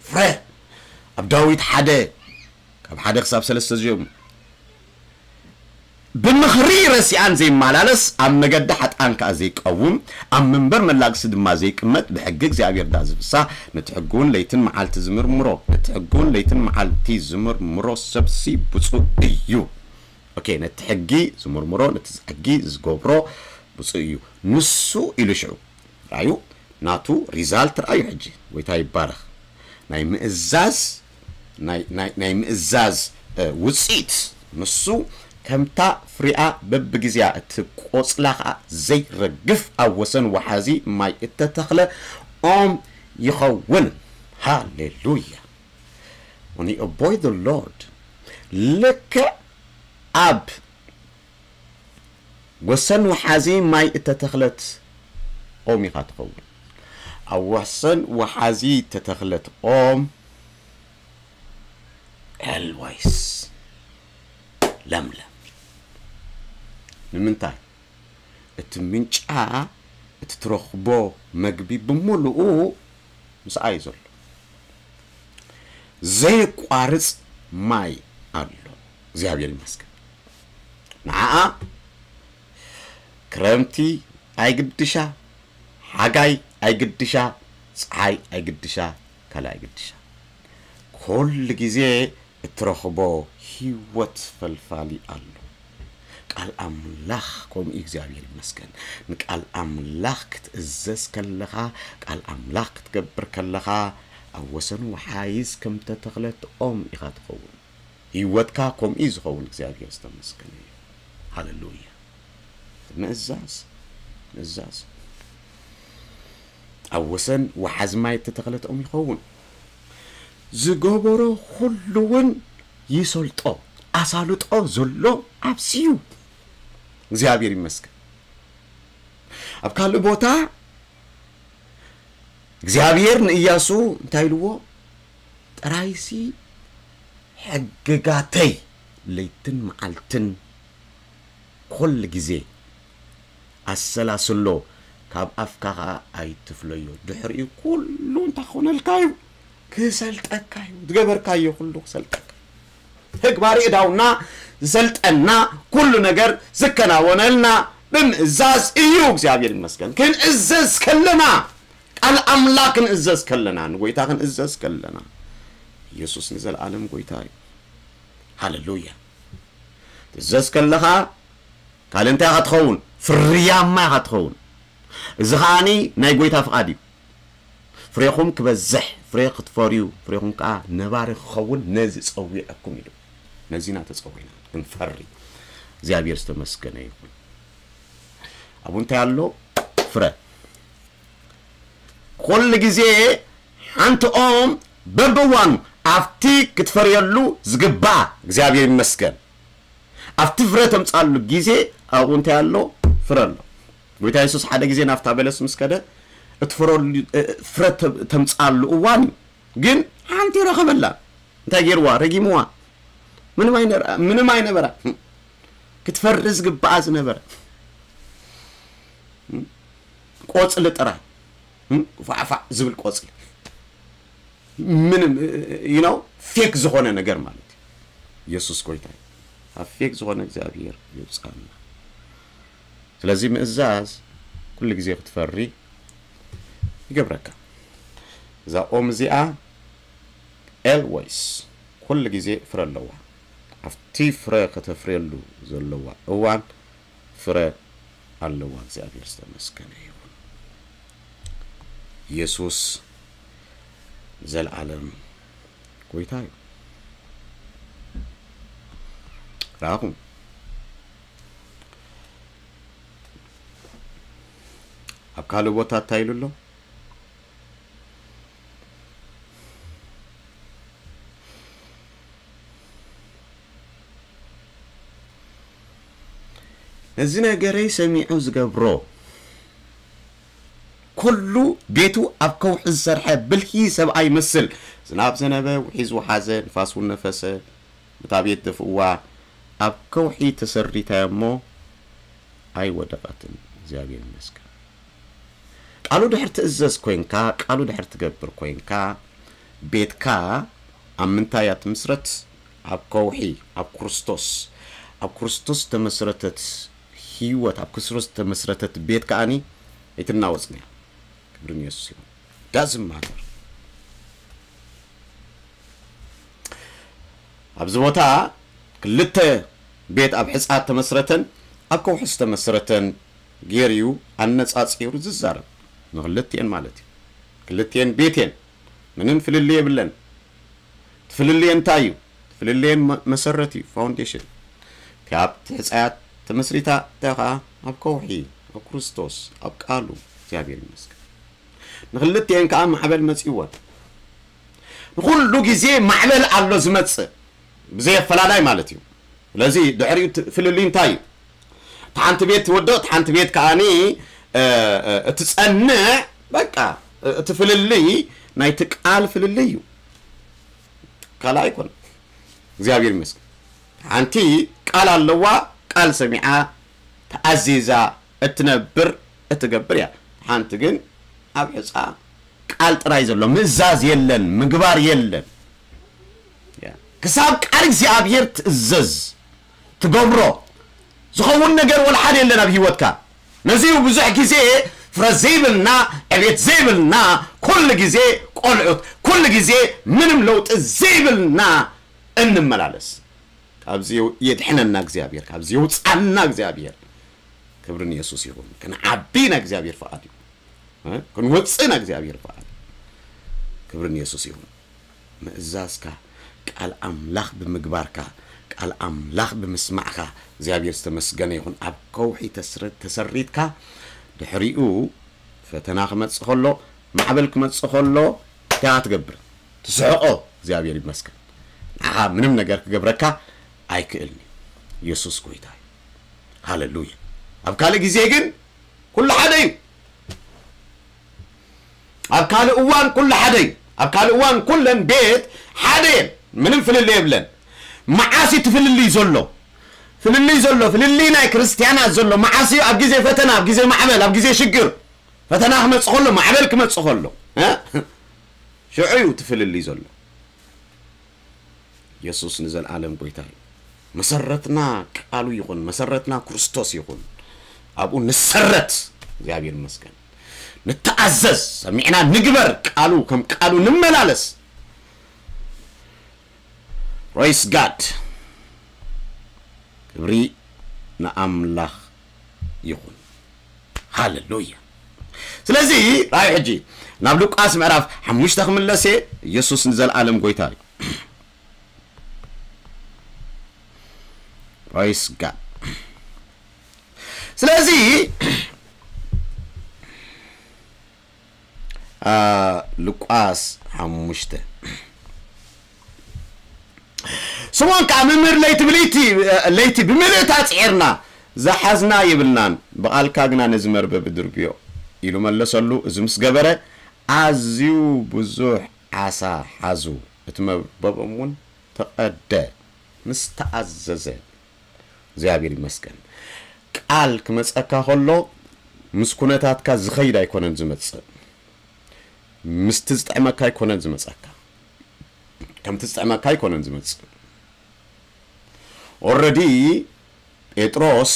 ፍረ ኣብ ዳዊት ሓደ ካብ ሓደ ክሳብ ሰለስተ እዚኦም ብምኽሪ ረሲኣን ዘይመላለስ ኣብ መገዲ ሓጥኣን ከኣ ዘይቀውም ኣብ መንበር መላግሲ ድማ ዘይቅመጥ ብሕጊ እግዚኣብሔር ደኣ ዝፍሳ ነቲ ሕጊ እውን ለይትን መዓልቲ ዝምርምሮ ነቲ ሕጊ እውን ለይትን መዓልቲ ዝምርምሮ ሰብሲ ብፁዕ እዩ። ኦኬ ነቲ ሕጊ ዝምርምሮ ነቲ ሕጊ ዝገብሮ ብፁዕ እዩ ንሱ ኢሉ ሽዑ ራዩ ናቱ ሪዛልት ራዩ ሕጂ ጎይታ ይባረኽ ናይ ምእዛዝ ናይ ምእዛዝ ውፅኢት ንሱ ከምታ ፍሪኣ በብግዜያ እቲ ቆፅላ ከዓ ዘይረግፍ ኣብ ወሰን ወሓዚ ማይ እተተኽለ ኦም ይኸውን። ሃሌሉያ። When you obey the Lord ልክዕ ኣብ ወሰን ወሓዚ ማይ እተተኽለት ኦም ኢኻ ትኸውን። ኣብ ወሰን ወሓዚ እተተኽለት ኦም ኤልዋይስ ለምለም። ንምንታይ? እቲ ምንጫ፣ እቲ ትረኽቦ መግቢ ብምሉኡ ምስኣ እዩ ዘሎ። ዘየቋርጽ ማይ ኣሎ። እግዚኣብሔር ይመስገን። ንዓኣ ክረምቲ ኣይግድሻ፣ ሓጋይ ኣይግድሻ፣ ፀሓይ ኣይግድሻ፣ ካልእ ኣይግድሻ። ኩሉ ግዜ እትረኽቦ ህይወት ፈልፋሊ ኣሎ። ቃል ኣምላኽ ከምኡ እዩ። እግዚኣብሔር ይመስገን። ንቃል ኣምላኽ ክትእዘዝ ከለኻ፣ ቃል ኣምላኽ ክትገብር ከለኻ፣ ኣብ ወሰን ወሓይዝ ከም ተተኽለት ኦም ኢኻ ትኸውን። ህይወትካ ከምኡ እዩ ዝኸውን። እግዚኣብሔር ዝተመስገነ እዩ። ሃሌሉያ። ምእዛዝ፣ ምእዛዝ። ኣብ ወሰን ወሓዚ ማይ እተተኽለት ኦም ይኸውን። ዝገበሮ ኩሉ እውን ይሰልጦ። ኣሳልጦ ዘሎ ኣብዚ እዩ። እግዚኣብሔር ይመስገን። ኣብ ካልእ ቦታ እግዚኣብሔር ንእያሱ እንታይ ኢልዎ? ጥራይሲ ሕግጋተይ ለይትን መዓልትን ኩሉ ግዜ ኣሰላስሎ፣ ካብ ኣፍካ ኸኣ ኣይትፍለዮ። ድሕሪኡ ኩሉ እንታይ ክኾነልካ እዩ? ክሰልጠካ እዩ። ዝገበርካዮ ኩሉ ክሰልጠካ። ተግባር እዳውና ዝሰልጠና፣ ኩሉ ነገር ዝከናወነልና ብምእዛዝ እዩ። እግዚኣብሔር ይመስገን። ክንእዘዝ ከለና፣ ቃል ኣምላኽ ክንእዘዝ ከለና፣ ንጎይታ ክንእዘዝ ከለና፣ ኢየሱስ ንዘለዓለም ጎይታ እዩ። ሃሌሉያ። ትእዘዝ ከለኻ ካልእ እንታይ ኢኻ ትኸውን? ፍርያማ ኢኻ ትኸውን። እዚ ኸኣኒ ናይ ጎይታ ፍቓድ እዩ። ፍሬኹም ክበዝሕ፣ ፍሬ ክትፈርዩ፣ ፍሬኹም ከኣ ነባሪ ክኸውን ነዚ ጸዊዐኩም ኢሉ። ነዚና ተጸዊዕና ክንፈሪ። እግዚኣብሔር ዝተመስገነ ይኹን። ኣብኡ እንታይ ኣሎ? ፍረ። ኩሉ ግዜ ሓንቲ ኦም በብእዋኑ ኣብቲ ክትፈርየሉ ዝግባእ፣ እግዚኣብሔር ይመስገን፣ ኣብቲ ፍረ ተምጻሉ ግዜ ኣብኡ እንታይ ኣሎ? ፍረ ኣሎ። ጎይታ የሱስ ሓደ ግዜ ናብታ በለስ ምስ ከደ፣ እቲ ፍረሉ-፣ እ፣ ፍረ ተ-፣ ተምጻሉ እዋን እዩ። ግን ሓንቲ ረኸበላ። እንታይ ገይርዋ? ረጊምዋ። ምንም ኣይነ-፣ ምንም ኣይነበራ። ክትፈሪ ዝግባኣ ዝነበረ። ቆጽሊ ጥራይ። ፋዕፋዕ ዝብል ቆጽሊ። ምንም፣ you know፣ ፌክ ዝኾነ ነገር ማለት እዩ። ኢየሱስ ጎይታ እዩ። ካብ ፌክ ዝኾነ እግዚኣብሔር ይውጻና። ስለዚ ምእዛዝ ኩሉ ግዜ ክትፈሪ ይገብረካ። እዛ ኦም እዚኣ ኤልወይስ ኩሉ ግዜ ፍረ ኣለዋ። ኣብቲ ፍረ ከተፍርየሉ ዘለዋ እዋን ፍረ ኣለዋ። እግዚኣብሔር ዝተመስገነ ይኹን። ኢየሱስ ንዘለዓለም ጎይታ እዩ። ረኣኹም። ኣብ ካልእ ቦታ እንታይ ኢሉ ኣሎ? ነዚ ነገረይ ሰሚዑ ዝገብሮ፣ ኩሉ ቤቱ ኣብ ከውሒ ዝሰርሐ ብልሂ ሰብኣይ ይመስል። ዝናብ ዘነበ፣ ውሒዝ ወሓዘ፣ ንፋስ እውን ነፈሰ፣ ነታ ቤት ደፍእዋ፣ ኣብ ከውሒ ተሰሪታ እሞ ኣይወደቐትን። እግዚኣብሔር ይመስገን። ቃሉ ድሕር ትእዘዝ ኮይንካ፣ ቃሉ ድሕር ትገብር ኮይንካ፣ ቤትካ ኣብ ምንታይ እያ ትምስረት? ኣብ ከውሒ፣ ኣብ ክርስቶስ። ኣብ ክርስቶስ ተመስረተት ህይወት፣ ኣብ ክርስቶስ ተመስረተት ቤት ከኣኒ ኣይትናወጽን እያ። ክብሪ ንየሱስ ይኹን። Doesn't matter። ኣብዚ ቦታ ክልተ ቤት ኣብ ሕጻ ተመስረተን ኣብ ከውሒ ዝተመስረተን ጌርዩ ኣነጻጺሩ ዝዛረብ፣ ንክልቲኤን ማለት እዩ። ክልቲኤን ቤት እየን፣ ምንም ፍልልይ የብለን። እቲ ፍልልየን እንታይ እዩ? እቲ ፍልልየን መ-፣ መሰረት እዩ፣ ፋውንዴሽን። እቲ ኣብቲ ሕጻያት ተመስሪታ፣ እታ ኸኣ ኣብ ከውሒ፣ ኣብ ክርስቶስ፣ ኣብ ቃሉ። እግዚኣብሔር ይመስገን። ንክልቲኤን ከኣ ማዕበል መጺእወን። ንኹሉ ግዜ ማዕበል ኣሎ ዝመጽእ። ብዘይ ኣፈላላይ ማለት እዩ። ስለዚ ድሕሪኡ እቲ ፍልልይ እንታይ እዩ? እቲ ሓንቲ ቤት ትወድቕ፣ እቲ ሓንቲ ቤት ከዓኒ፣ እ፣ እ፣ እትጸንዕ፣ በቃ፣ እ፣ እቲ ፍልልይ ናይቲ ቃል ፍልልይ እዩ። ካልእ ኣይኮነን። እግዚኣብሔር ይመስገን። ሓንቲ ቃል ኣለዋ፣ ቃል ሰሚዓ፣ ተኣዚዛ፣ እትነብር፣ እትገብር እያ። ሓንቲ ግን ኣብ ሕጻ ቃል ጥራይ ዘሎ፣ ምእዛዝ የለን፣ ምግባር የለን። ያ። ክሳብ ቃል እግዚኣብሔር ትእዘዝ፣ ትገብሮ፣ ዝኸውን ነገር ወላ ሓደ የለን ኣብ ህይወትካ። ነዚ እዩ ብዙሕ ግዜ ፍረ ዘይብልና፣ ዕቤት ዘይብልና፣ ኩሉ ግዜ ቆልዑት፣ ኩሉ ግዜ ምንም ለውጢ ዘይብልና እንመላለስ። ካብዚ የድሕነና እግዚኣብሔር፣ ካብዚ የውፅኣና እግዚኣብሔር። ክብሪ ንየሱስ ይኹን። ክንዓቢ ናይ እግዚኣብሔር ፍቓድ እዩ። እ? ክንወፅእ ናይ እግዚኣብሔር ፍቓድ እዩ። ክብሪ ንየሱስ ይኹን። ምእዛዝካ፣ ቃል ኣምላኽ ብምግባርካ፣ ቃል ኣምላኽ ብምስማዕካ እግዚኣብሔር ዝተመስገነ ይኹን። ኣብ ከውሒ ተስረ-፣ ተሰሪትካ ድሕሪኡ ፈተና ክመጽእ ከሎ፣ ማዕበል ክመጽእ ከሎ እንታይ ትገብር? ትስሕቆ። እግዚኣብሔር ይመስገን። ንዓኻ ምንም ነገር ክገብረካ ኣይክእልን እዩ። የሱስ ጎይታ እዩ። ሃሌሉያ። ኣብ ካልእ ግዜ ግን ኩሉ ሓደ እዩ። ኣብ ካልእ እዋን ኩሉ ሓደ እዩ። ኣብ ካልእ እዋን ኩለን ቤት ሓደ እየን። ምንም ፍልልይ የብለን። መዓስ እዩ እቲ ፍልልይ ዘሎ? ፍልልይ ዘሎ፣ ፍልልይ ናይ ክርስትያናት ዘሎ መዓስ እዩ? ኣብ ግዜ ፈተና፣ ኣብ ግዜ ማዕበል፣ ኣብ ግዜ ሽግር። ፈተና ክመጽእ ከሎ፣ ማዕበል ክመጽእ ከሎ፣ እ? ሽዑ እዩ እቲ ፍልልይ ዘሎ። የሱስ ንዘለኣለም ጎይታ እዩ። መሰረትና ቃሉ ይኹን፣ መሰረትና ክርስቶስ ይኹን። ኣብኡ ንሰረት። እግዚኣብሔር ይመስገን። ንተኣዘዝ፣ ሰሚዕና ንግበር፣ ቃሉ ከም ቃሉ ንመላለስ። Praise God። ክብሪ ንኣምላኽ ይኹን። ሃሌሉያ። ስለዚ ራእይ ሕጂ ናብ ሉቃስ ምዕራፍ ሓሙሽተ ክምለስ እየ። ኢየሱስ ንዘለኣለም ጎይታ እዩ። Praise God። ስለዚ ሉቃስ ሓሙሽተ። ስምዖን ከኣ፣ መምህር፣ ለይቲ ብለይቲ፣ ለይቲ ብምልእታ ጽዒርና፣ ዝሓዝና የብልናን፣ ብቓልካ ግና ነዚ መርበብ እድርብዮ ኢሉ መለሰሉ። እዚ ምስ ገበረ፣ ኣዝዩ ብዙሕ ዓሳ ሓዙ፣ እቲ መርበቦም እውን ተቐደ። ምስ ተኣዘዘ፣ እግዚኣብሔር ይመስገን። ቃል ክመጸካ ከሎ፣ ምስ ኩነታትካ ዝኸይድ ኣይኮነን ዝመጽእ። ምስቲ ዝጥዕመካ ኣይኮነን ዝመጸካ። ከምቲ ዝጥዕመካ ኣይኮነን ዝመጽእ። ኦረዲ ጴጥሮስ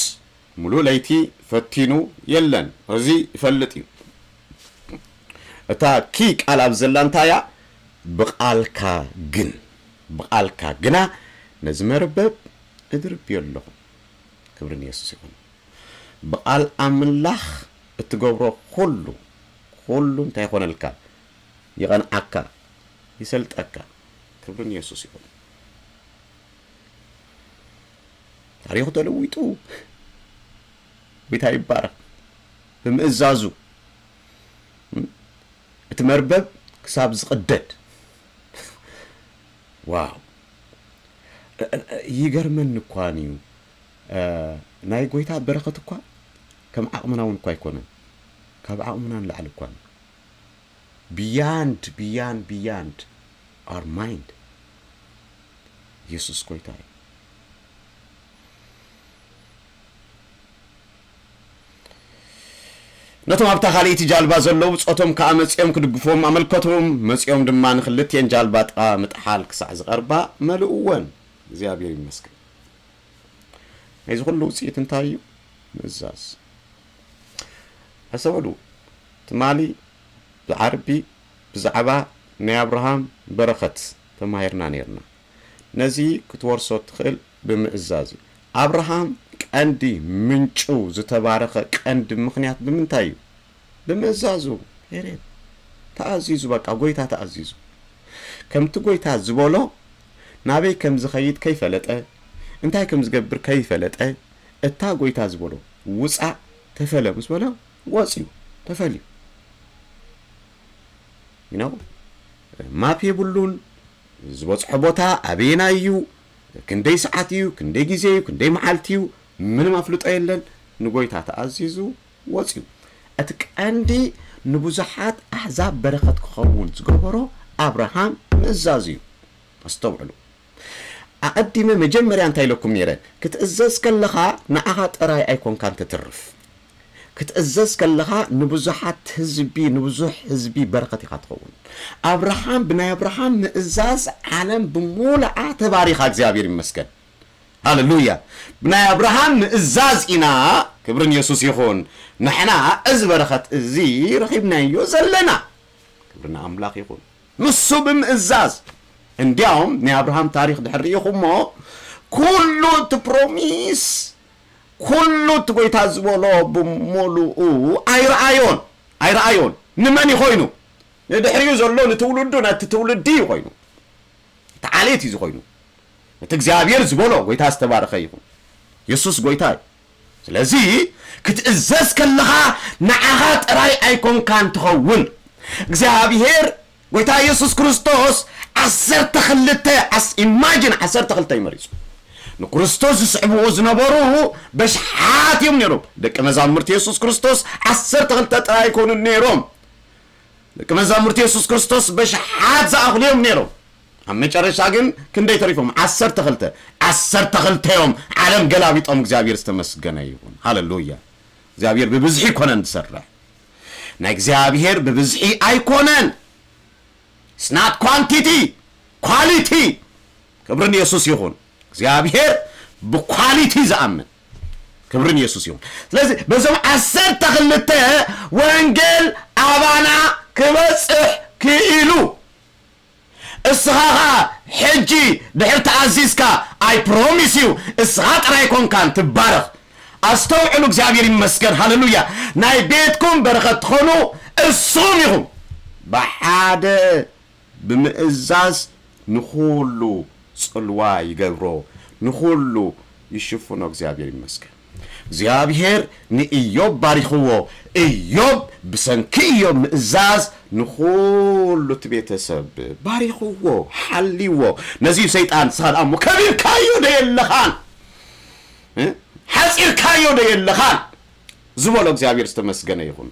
ምሉእ ለይቲ ፈቲኑ የለን። እዚ ይፈልጥ እዩ። እታ ኪ ቃል ኣብ ዘላ እንታይ እያ? ብቓልካ ግን፣ ብቓልካ ግና ነዚ መርበብ እድርብዮ ኣለኹ። ክብሪ ንየሱስ ይኹን። ብቓል ኣምላኽ እትገብሮ ኩሉ፣ ኩሉ እንታይ ይኾነልካ? ይቐንዓካ፣ ይሰልጠካ። ክብሪ ንየሱስ ይኹን። ታሪኹ ተለዊጡ። ጎይታ ይባረክ። ብምእዛዙ እቲ መርበብ ክሳብ ዝቕደድ። ዋው። ይገርመኒ እኳን እዩ። እ፣ ናይ ጎይታ በረኸት እኳ ከም ዓቕምና እውን እኳ ኣይኮነን። ካብ ዓቕምና ንላዕሊ እኳን። Beyond, beyond, beyond our mind። ኢየሱስ ጎይታ እዩ። ነቶም ኣብታ ካልኣይቲ ጃልባ ዘለዉ ብጾቶም ከኣ መጺኦም ክድግፍዎም ኣመልከቶም። መጺኦም ድማ ንኽልቲኤን ጃልባ ጥቓ ምጥሓል ክሳዕ ዝቐርባ መልእወን። እግዚኣብሔር ይመስገን። ናይዚ ኩሉ ውጽኢት እንታይ እዩ? ምእዛዝ። ኣስተውዕሉ፣ ትማሊ ብዓርቢ ብዛዕባ ናይ ኣብርሃም በረኸት ተማሂርና ነይርና። ነዚ ክትወርሶ እትኽእል ብምእዛዝ እዩ። ኣብርሃም ቀንዲ ምንጩ ዝተባረኸ ቀንዲ ምኽንያት ብምንታይ እዩ? ብምእዛዙ። ፔሬድ። ተኣዚዙ፣ በቃ ጎይታ ተኣዚዙ። ከምቲ ጎይታ ዝበሎ ናበይ ከም ዝኸይድ ከይፈለጠ፣ እንታይ ከም ዝገብር ከይፈለጠ፣ እታ ጎይታ ዝበሎ ውጻእ ተፈለ ምስ በሎ ወጽዩ ተፈልዩ። You know? ማፕ የብሉን። ዝበጽሖ ቦታ ኣበየናይ እዩ? ክንደይ ሰዓት እዩ፣ ክንደይ ግዜ እዩ፣ ክንደይ መዓልቲ እዩ፣ ምንም ኣፍልጦ የለን። ንጎይታ ተኣዚዙ ወፂኡ። እቲ ቀንዲ ንብዙሓት ኣሕዛብ በረኸት ክኸውን ዝገበሮ ኣብርሃም ምእዛዝ እዩ። ኣስተውዕሉ። ኣቐዲመ መጀመርያ እንታይ ኢለኩም ነይረ? ክትእዘዝ ከለኻ ንዓኻ ጥራይ ኣይኮንካን ትትርፍ። ክትእዘዝ ከለኻ ንብዙሓት ህዝቢ፣ ንብዙሕ ህዝቢ በረኸት ኢኻ ትኸውን። ኣብርሃም፣ ብናይ ኣብርሃም ምእዛዝ ዓለም ብሙሉኣ ተባሪኻ፣ እግዚኣብሔር ይመስገን። ሃሌሉያ። ብናይ ኣብርሃም ምእዛዝ ኢና፣ ክብርን የሱስ ይኹን፣ ንሕና እዚ በረኸት እዚ ረኺብናዮ ዘለና። ክብሪ ንኣምላኽ ይኹን። ንሱ ብምእዛዝ። እንዲያውም ናይ ኣብርሃም ታሪኽ ድሕር ርኢኹሞ፣ ኩሉ እቲ ፕሮሚስ፣ ኩሉ እቲ ጎይታ ዝበሎ ብምሉኡ ኣይረኣዮን፣ ኣይረኣዮን። ንመን እዩ ኮይኑ? ንድሕሪኡ ዘሎ ንትውልዱ፣ ነቲ ትውልዲ እዩ ኮይኑ። እቲ ዓሌት እዩ ዝኾይኑ። እቲ እግዚኣብሔር ዝበሎ ጎይታ ዝተባረኸ ይኹን። የሱስ ጎይታ እዩ። ስለዚ ክትእዘዝ ከለኻ ንዓኻ ጥራይ ኣይኮንካን ትኸውን። እግዚኣብሔር ጎይታ የሱስ ክርስቶስ ዓሰርተ ክልተ ኣስ-፣ ኢማጂን ዓሰርተ ክልተ እዩ መሪጹ። ንክርስቶስ ዝስዕብዎ ዝነበሩ በሽሓት እዮም ነይሮም። ደቂ መዛሙርቲ የሱስ ክርስቶስ ዓሰርተ ክልተ ጥራይ ኣይኮኑን ነይሮም። ደቂ መዛሙርቲ የሱስ ክርስቶስ በሽሓት ዝኣኽሉ እዮም ነይሮም። ኣብ መጨረሻ ግን ክንደይ ተሪፎም? ዓሰርተ ክልተ። ዓሰርተ ክልተ እዮም ዓለም ገላቢጦም። እግዚኣብሔር ዝተመስገነ ይኹን። ሃሌሉያ። እግዚኣብሔር ብብዝሒ ኣይኮነን ዝሰርሕ። ናይ እግዚኣብሔር ብብዝሒ ኣይኮነን። It's not quantity, quality። ክብሪ ንየሱስ ይኹን። እግዚኣብሔር ብኳሊቲ ዝኣምን። ክብሪ ንየሱስ ይኹን። ስለዚ በዞም ዓሰርተ ክልተ ወንጌል ኣባና ክበጽሕ ክኢሉ። እስኻ ኸኣ ሕጂ ድሕር ተኣዚዝካ፣ I promise you፣ እስኻ ጥራይ ኮንካን ትባረኽ። ኣስተውዕሉ፣ እግዚኣብሔር ይመስገን፣ ሃሌሉያ። ናይ ቤትኩም በረኸት ትኾኑ እሱም ኢኹም። ብሓደ ብምእዛዝ ንኹሉ ጽልዋ ይገብሮ፣ ንኹሉ ይሽፍኖ። እግዚኣብሔር ይመስገን። እግዚኣብሔር ንኢዮብ ባሪኽዎ። ኢዮብ ብሰንኪ ኢዮብ ምእዛዝ ንኹሉ እቲ ቤተሰብ ባሪኽዎ፣ ሓልይዎ። ነዚ እዩ ሰይጣን፣ ንስኻ ደኣ እሞ ከቢርካዮ ዶ የለኻን? እ? ሓጺርካዮ ዶ የለኻን? ዝበሎ እግዚኣብሔር ዝተመስገነ ይኹን።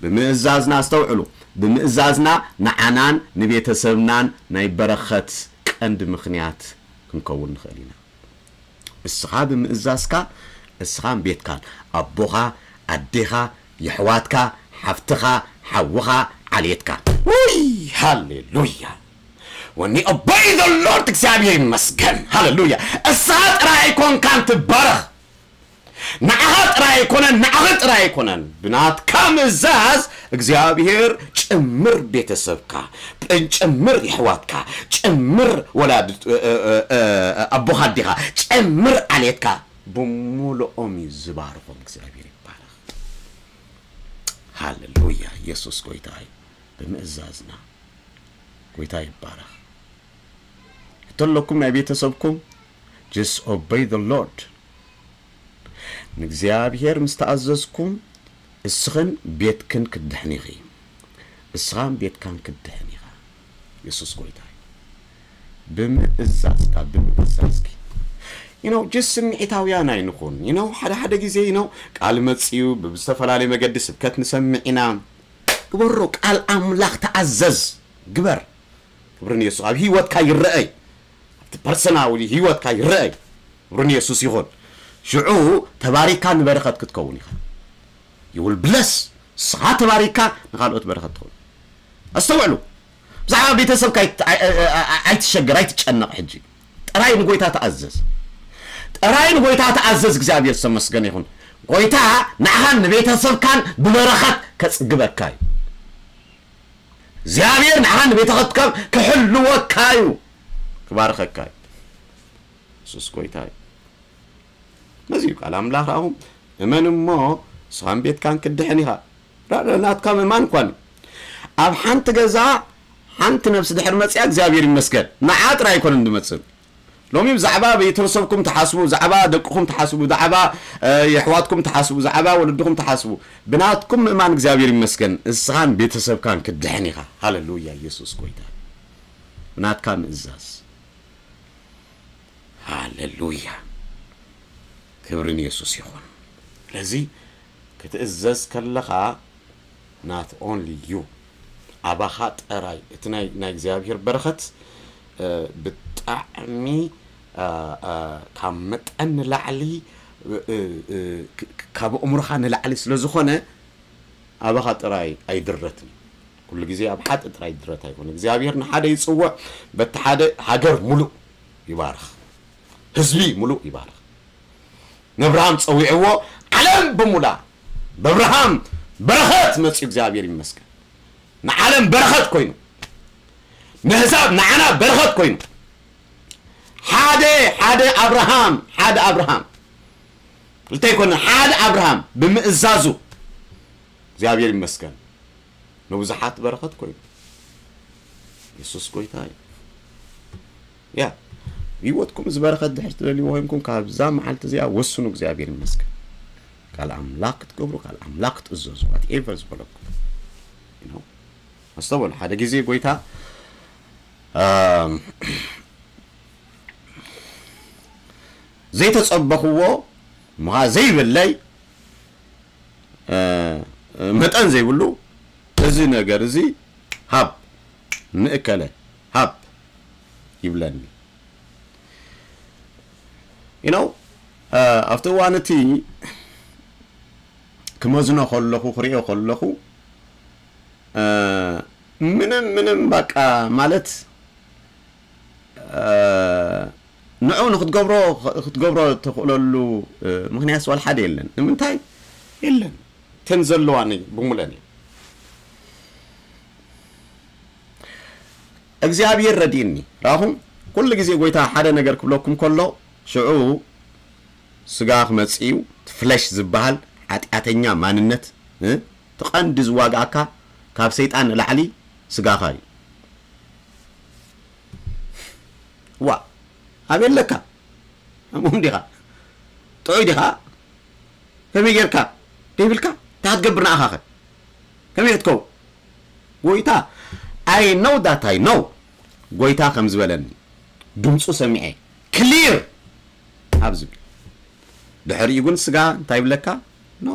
ብምእዛዝና፣ ኣስተውዕሉ፣ ብምእዛዝና ንዓናን ንቤተሰብናን ናይ በረኸት ቀንዲ ምኽንያት ክንከውን ንኽእል ኢና። እስኻ ብምእዛዝካ፣ እስኻን ቤትካን፣ ኣቦኻ፣ ኣዴኻ፣ የሕዋትካ፣ ሓፍትኻ፣ ሓውኻ፣ ዓሌትካ። ውይ፣ ሃሌሉያ። When you obey the Lord፣ እግዚኣብሔር ይመስገን። ሃሌሉያ። እስኻ ጥራይ ኣይኮንካን ትባረኽ። ንዓኻ ጥራይ ኣይኮነን፣ ንዓኺ ጥራይ ኣይኮነን። ብናትካ ምእዛዝ እግዚኣብሔር ጭምር ቤተሰብካ፣ ጭምር የሕዋትካ፣ ጭምር ወላድ-፣ እ፣ እ፣ እ፣ እ፣ ኣቦኻ ኣዴኻ፣ ጭምር ዓሌትካ ብምሉኦም እዩ ዝባርኾም። እግዚኣብሔር ይባረኽ። ሃሌሉያ። የሱስ ጎይታ እዩ። ብምእዛዝና ጎይታ ይባረኽ። ሕቶ ኣለኩም ናይ ቤተሰብኩም? Just obey the Lord። ንእግዚኣብሔር ምስ ተኣዘዝኩም፣ እስኽን ቤትክን ክትድሕኒ ኢኺ። እስኻን ቤትካን ክትድሕን ኢኻ። የሱስ ጎይታ እዩ። ብምእዛዝካ፣ ብምእዛዝኪ። You know፣ just ስምዒታውያን ኣይንኹን። You know፣ ሓደ ሓደ ግዜ፣ you know፣ ቃል መጽዩ፣ ብዝተፈላለየ መገዲ ስብከት ንሰምዕ ኢና። ግበሮ፣ ቃል ኣምላኽ ተኣዘዝ፣ ግበር። ክብሪ ንየሱስ። ኣብ ህይወትካ ይረኣይ። ኣብቲ ፐርሰናል ህይወትካ ይረኣይ። ክብሪ ንየሱስ ይኹን። ሽዑ ተባሪካ ንበረኸት ክትከውን ኢኻ። You will bless። ንስኻ ተባሪካ ንኻልኦት በረኸት ትኸውን። ኣስተውዕሉ። ብዛዕባ ቤተሰብካ ኣይት-፣ ኣይ-፣ ኣይ-፣ ኣይ-፣ ኣይትሸገር፣ ኣይትጨነቕ ሕጂ። ጥራይ ንጎይታ ተኣዘዝ። ጥራይ ንጎይታ ተኣዘዝ። እግዚኣብሔር ዝተመስገነ ይኹን። ጎይታ ንዓኻን ንቤተሰብካን ብበረኸት ከጽግበካ እዩ። እግዚኣብሔር ንዓኻን ንቤተሰብካን ክሕልወካ እዩ። ክባርኸካ እዩ። የሱስ ጎይታ እዩ። ነዚ እዩ ቃል ኣምላኽ። ረኣኹም፣ እመን እሞ ንስኻን ቤትካን ክትድሕን ኢኻ። ራ-፣ ራ-፣ ናትካ ምእማን እኳ እዩ። ኣብ ሓንቲ ገዛ ሓንቲ ነፍሲ ድሕር መጽያ እግዚኣብሔር ይመስገን። ንዓ ጥራይ ኣይኮነን ዝመጽእ። ሎሚ ብዛዕባ ቤተሰብኩም ትሓስቡ፣ ብዛዕባ ደቅኹም ትሓስቡ፣ ብዛዕባ፣ እ፣ የሕዋትኩም ትሓስቡ፣ ብዛዕባ ወለድኹም ትሓስቡ። ብናትኩም ምእማን እግዚኣብሔር ይመስገን። እስኻን ቤተሰብካን ክትድሕን ኢኻ። ሃሌሉያ፣ የሱስ ጎይታ። ብናትካ ምእዛዝ። ኣለሉያ። ክብሪ ንየሱስ ይኹን። ስለዚ ክትእዘዝ ከለኻ not only you፣ ኣባኻ ጥራይ እቲ ናይ ናይ እግዚኣብሔር በረኸት እ፣ ብጣዕሚ እ፣ እ፣ ካብ መጠን ንላዕሊ እ፣ እ፣ እ፣ ክ- ክ- ካብ ኣእምሮኻ ንላዕሊ ስለ ዝኾነ ኣባኻ ጥራይ ኣይድረትን። ኩሉ ግዜ ኣብ ሓደ ጥራይ ድረት ኣይኮነ እግዚኣብሔር ንሓደ ይጽውዕ። በቲ ሓደ ሃገር ሙሉእ ይባርኽ፣ ህዝቢ ሙሉእ ይባርኽ። ነብርሃም ጸዊዕዎ፣ ዓለም ብሙላ በብርሃም በረኸት መጽኡ እግዚኣብሔር ይመስገን። ንዓለም በረኸት ኮይኑ፣ ንህዛብ ንዓና በረኸት ኮይኑ። ሓደ ሓደ ኣብርሃም ሓደ ኣብርሃም ክልተ ይኮነ ሓደ ኣብርሃም ብምእዛዙ እግዚኣብሔር ይመስገን። ንብዙሓት በረኸት ኮይኑ። የሱስ ጎይታ እዩ። ያ ህይወትኩም እዚ በረኸት ድሕር ትደልይዎ ኮይንኩም ካብዛ መዓልቲ እዚኣ ወስኑ። እግዚኣብሔር ይመስገን። ካል ኣምላኽ ክትገብሩ ካል ኣምላኽ ክትእዘዙ whatever ዝበለኩም you know። ኣስተውዕሉ። ሓደ ግዜ ጎይታ ኣም፣ ዘይተጸበኽዎ ምኻ ዘይብለይ እ፣ መጠን ዘይብሉ እዚ ነገር እዚ ሃብ ንእከለ ሃብ ይብለኒ። you know ኣብቲ እዋን እቲ ክመዝኖ ከለኹ ክሪኦ ከለኹ እ፣ ምንም ምንም በቃ ማለት እ፣ ንዑ ንክትገብሮ ክትገብሮ ትኽእለሉ እ፣ ምክንያት ዋላ ሓደ የለን። ንምንታይ የለን? ተን ዘለዋኒ ብሙለን እዩ እግዚኣብሔር ረዲእኒ። ራኹም ኩሉ ግዜ ጎይታ ሓደ ነገር ክብለኩም ከሎ ሽዑ ስጋ ክመጽእ እዩ። እቲ ፍለሽ ዝበሃል ሓጢኣተኛ ማንነት እ፣ እቲ ቀንዲ ዝዋግኣካ ካብ ሰይጣን ንላዕሊ ስጋኻ እዩ። ዋ ኣበይ ኣለካ? ኣምኦም ዲኻ? ጥዑይ ዲኻ? ከመይ ጌርካ? ደይብልካ እንታይ ክትገብር ንኣኻኸ? ከመይ ክትከው? ጎይታ I know that I know ጎይታ ከም ዝበለኒ ድምፁ ሰሚዐ ክሊር ኣብ ዝብል ድሕሪኡ ግን ስጋ እንታይ ይብለካ? ኖ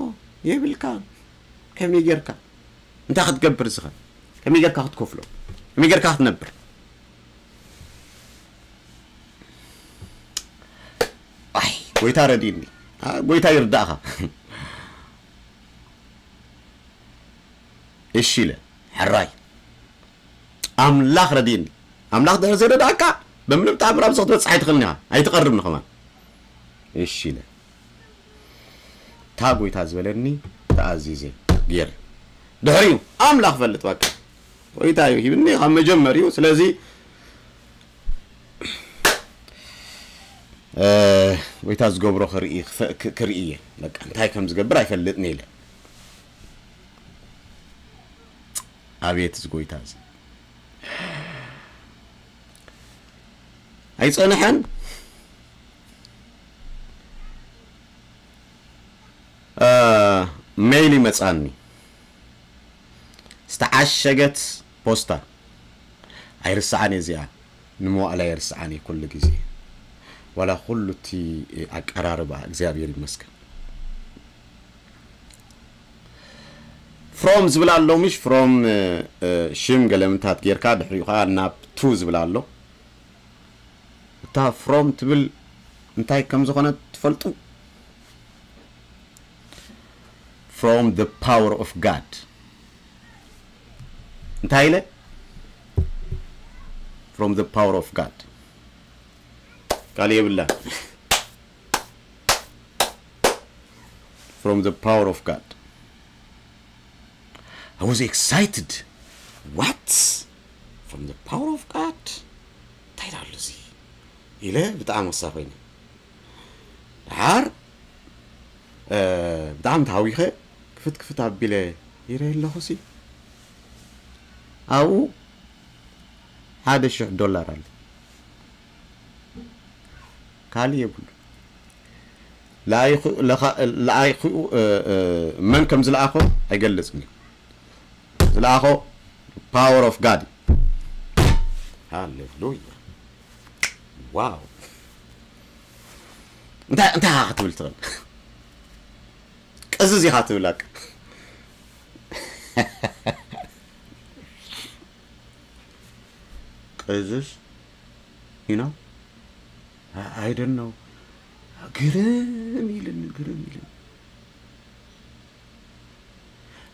የብልካ። ከመይ ጌርካ እንታይ ክትገብር ዝኸ ከመይ ጌርካ ክትከፍሎ ከመይ ጌርካ ክትነብር ኣይ ጎይታ ረዲኒ ጎይታ ይርዳእኻ እሺ ኢለ ሕራይ ኣምላኽ ረዲኒ ኣምላኽ ድሕር ዘይረዳእካ በምንም ተኣምር ኣብዚ ክትበፅሕ ኣይትኽእልን ኢኻ ኣይትቐርብ ንኸማን እሺ ኢለ እታ ጎይታ ዝበለኒ ተኣዚዘ ገይረ ድሕሪኡ ኣምላኽ ፈልጥ በቃ ጎይታ እዩ ሂብኒ ካብ መጀመሪኡ ስለዚ ጎይታ ዝገብሮ ክርኢ እየ በቃ እንታይ ከም ዝገብር ኣይፈልጥን ኢለ ኣቤት እዚ ጎይታ እዚ ኣይጸንሐን ሜይል ይመጻኒ ዝተዓሸገት ፖስታ ኣይርስዓን እዚኣ ንመዋእላ ኣይርስዓን ኩሉ ግዜ ዋላ ኩሉ እቲ ኣቀራርባ እግዚኣብሔር ይመስገን from ዝብል ኣሎ ምሽ from ሽም ገለምታት ጌርካ ድሕሪኡ ከዓ ናብ to ዝብል ኣሎ እታ from ትብል እንታይ ከም ዝኾነ ትፈልጡ from the power of God እንታይ ኢለ from the power of God ካልእ የብላን from the power of God I was excited what from the power of God እንታይ ዳሉ እዚ ኢለ ብጣዕሚ ወሳ ኮይነ ድሓር ብጣዕሚ ተሃዊኸ ክፍት ክፍት ኣቢለ ይረ ኣለኹ ሲ ኣብኡ ሓደ ሽሕ ዶላር ኣሎ ካልእ የብሉ ለኣይኹ መን ከም ዝለኣኾ ኣይገልጽን እዩ ዝለኣኾ power of God ሃሌሉያ ዋው እንታይ እንታይ ኢኻ ክትብል ትኽእል? ቅዝዝ ኢኻ ትብል ኣቅ ቅዝዝ you know I don't know ግርም ኢልን ግርም ኢልን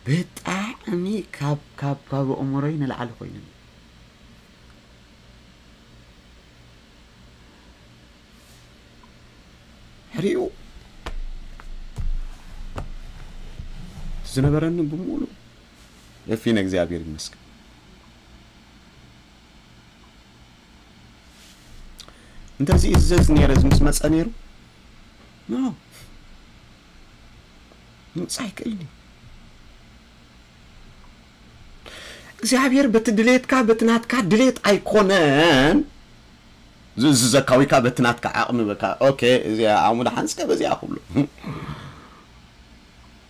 ብጣዕሚ ካብ ካብ ካብ ኣእምሮይ ንላዕሊ ኮይኑኒ። ሕሪኡ ዝነበረኒ ብምሉእ እፊ ንእግዚኣብሔር ይመስገን። እንተዝእዘዝ ነይረ ምስ መጸ ነይሩ ኖ ምምጻእ ኣይክእልን እዩ። እግዚኣብሔር በቲ ድሌትካ በቲ ናትካ ድሌት ኣይኮነን ዝእዝዘካ ወይ ከዓ በቲ ናትካ ዓቕሚ በካ ኦኬ እዚኣ ዓሙዳ ሓንስከ በዚኣ ክብሎ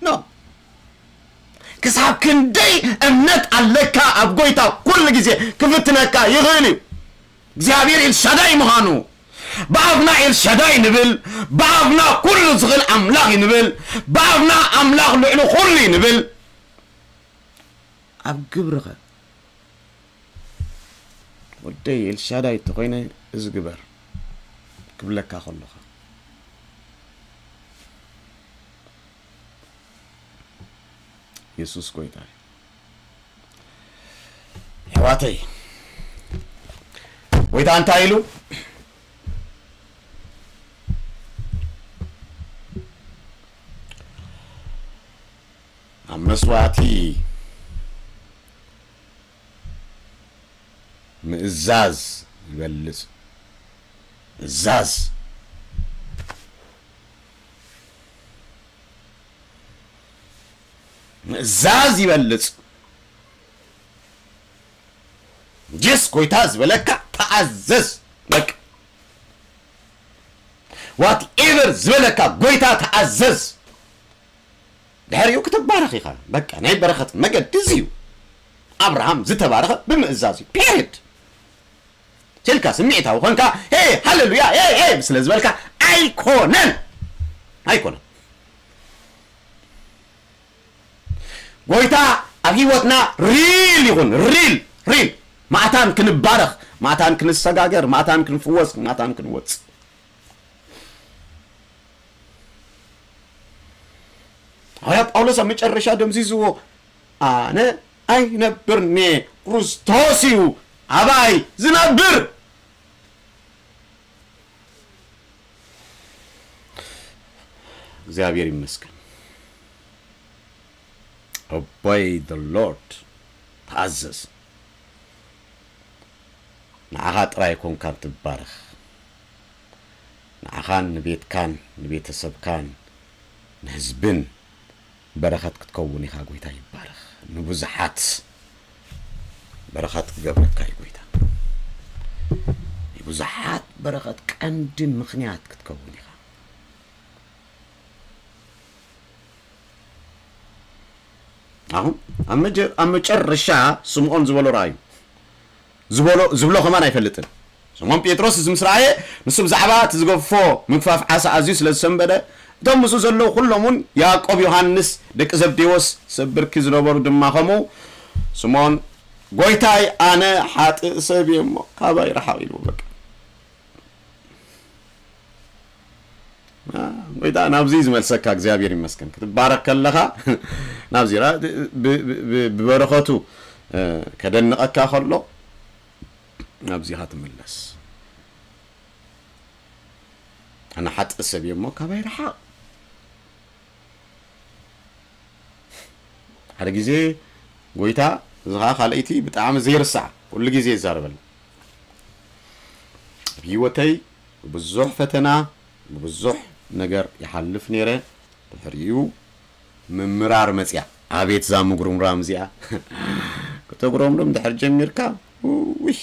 ኖ ክሳብ ክንደይ እምነት ኣለካ ኣብ ጎይታ ኩሉ ግዜ ክፍትነካ ይኽእል እዩ እግዚኣብሔር ኤልሻዳይ ምዃኑ ብኣፍና ኤልሻዳይ ንብል ብኣፍና ኩሉ ዝኽእል ኣምላኽ እዩ ንብል ብኣፍና ኣምላኽ ልዕሊ ኩሉ እዩ ንብል ኣብ ግብርኸ ወደይ ኤልሻዳይ እንተኾይነ እዚ ግበር ክብለካ ከለኻ የሱስ ጎይታ እዩ። ኣሕዋተይ ጎይታ እንታይ ኢሉ ኣብ መስዋእቲ ምእዛዝ ይበልጽ ምእዛዝ ምእዛዝ ይበልጽ ጅስ ጎይታ ዝበለካ ተኣዘዝ በቃ whatever ዝበለካ ጎይታ ተኣዘዝ ድሕሪኡ ክትባረኽ ኢኻ በቃ ናይ በረኸት መገዲ እዚ እዩ ኣብርሃም ዝተባረኸ ብምእዛዝ እዩ period ስልካ ስምዒታዊ ኮንካ ሄ ሃሌሉያ ሄ ሄ ስለ ዝበልካ ኣይኮነን ኣይኮነን ጎይታ ኣብ ህይወትና ሪል ይኹን ሪል ሪል ማእታን ክንባረኽ ማእታን ክንሰጋገር ማእታን ክንፍወስ ማእታን ክንወፅ ሃዋርያ ጳውሎስ ኣብ መጨረሻ ደምዚዝዎ ኣነ ኣይነብርኒ ክርስቶስ እዩ ኣባይ ዝነብር እግዚኣብሔር ይመስገን obey the Lord ተኣዘዝ ንዓኻ ጥራይ ኮንካ ትባረኽ ንዓኻን ንቤትካን ንቤተሰብካን ንህዝብን በረኸት ክትከውን ኢኻ ጎይታ ይባረኽ ንብዙሓት በረኸት ክገብረካ እዩ ጎይታ ንብዙሓት በረኸት ቀንዲ ምኽንያት ክትከውን ኢኻ ኣሁን ኣብ መጨረሻ ስምዖን ዝበሎ ረኣዩ ዝበሎ ዝብሎ ከማን ኣይፈልጥን ስምዖን ጴጥሮስ እዚ ምስ ረኣየ ንሱ ብዛዕባ እቲ ዝገፎ ምግፋፍ ዓሳ ኣዝዩ ስለ ዝሰንበደ እቶም ምስኡ ዘለዉ ኩሎም እውን ያዕቆብ ዮሃንስ ደቂ ዘብዴዎስ ሰብ ብርኪ ዝነበሩ ድማ ከምኡ ስምዖን ጎይታይ ኣነ ሓጥእ ሰብ እየ እሞ ካባይ ረሓቕ ኢልዎ በቃ ጎይታ ናብዚ ዝመልሰካ እግዚኣብሔር ይመስገን ክትባረክ ከለካ ናብዚ ብበረከቱ ከደንቀካ ከሎ ናብዚካ ትምለስ ኣነ ሓጥእ ሰብ እየ እሞ ካባይ ረሓቅ ሓደ ግዜ ጎይታ እዚ ከዓ ካልኣይቲ ብጣዕሚ ዘይርሳዕ ኩሉ ግዜ ይዛረበልና ኣብ ህይወተይ ብብዙሕ ፈተና ብብዙሕ ነገር ይሓልፍ ነይረ ድሕሪኡ ምምራር መፅያ ኣቤት ዛ ምጉርምራም እዚኣ ክተጉረምርም ድሕር ጀሚርካ ውይ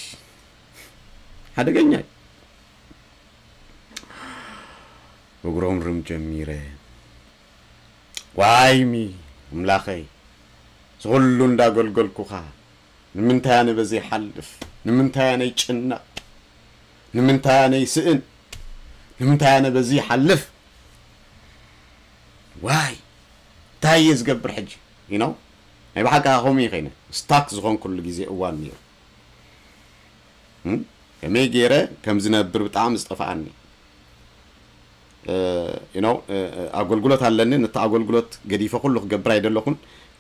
ሓደገኛ እዩ እጉረምርም ጀሚረ ዋይሚ ኣምላኸይ ዝኩሉ እንዳገልገልኩኻ ንምንታይ ኣነ በዚ ይሓልፍ ንምንታይ ኣነ ይጭነቕ ንምንታይ ኣነ ይስእን ንምንታይ ኣነ በዚ ይሓልፍ ዋይ እንታይ እየ ዝገብር ሕጂ? You know? ናይ ብሓቂ ከምኡ እዩ ኮይነ ስታክ ዝኾንኩሉ ግዜ እዋን ነይሩ። እም? ከመይ ገይረ ከም ዝነብር ብጣዕሚ ዝጠፍኣኒ። You know? ኣገልግሎት ኣለኒ፣ ነቲ ኣገልግሎት ገዲፈ ኩሉ ክገብር ኣይደለኹን።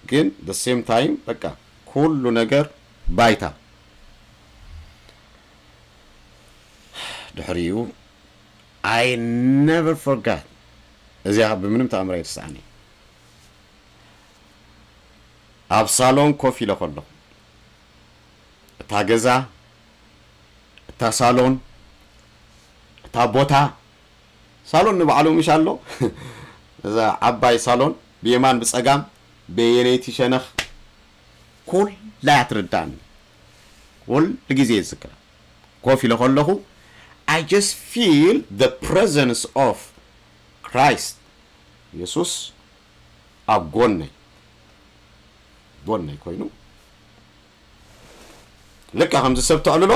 ግን the same time በቃ ኩሉ ነገር ባይታ። ድሕሪኡ I never forgot። እዚኣ ብምንም ተኣምር ኣይርስዓኒ። ኣብ ሳሎን ኮፍ ኢለ ከለኹ እታ ገዛ፣ እታ ሳሎን፣ እታ ቦታ፣ ሳሎን ንባዕሉ ምሽ ኣሎ። እዛ ዓባይ ሳሎን ብየማን ብጸጋም በየነይቲ ሸነኽ ኩላ እያ ትርዳእኒ። ኩሉ ግዜ ይዝክራ። ኮፍ ኢለ ከለኹ I just feel the presence of Christ። የሱስ ኣብ ጎነይ ጎነይ ኮይኑ ልካ ከምዚ ሰብ ተዕልሎ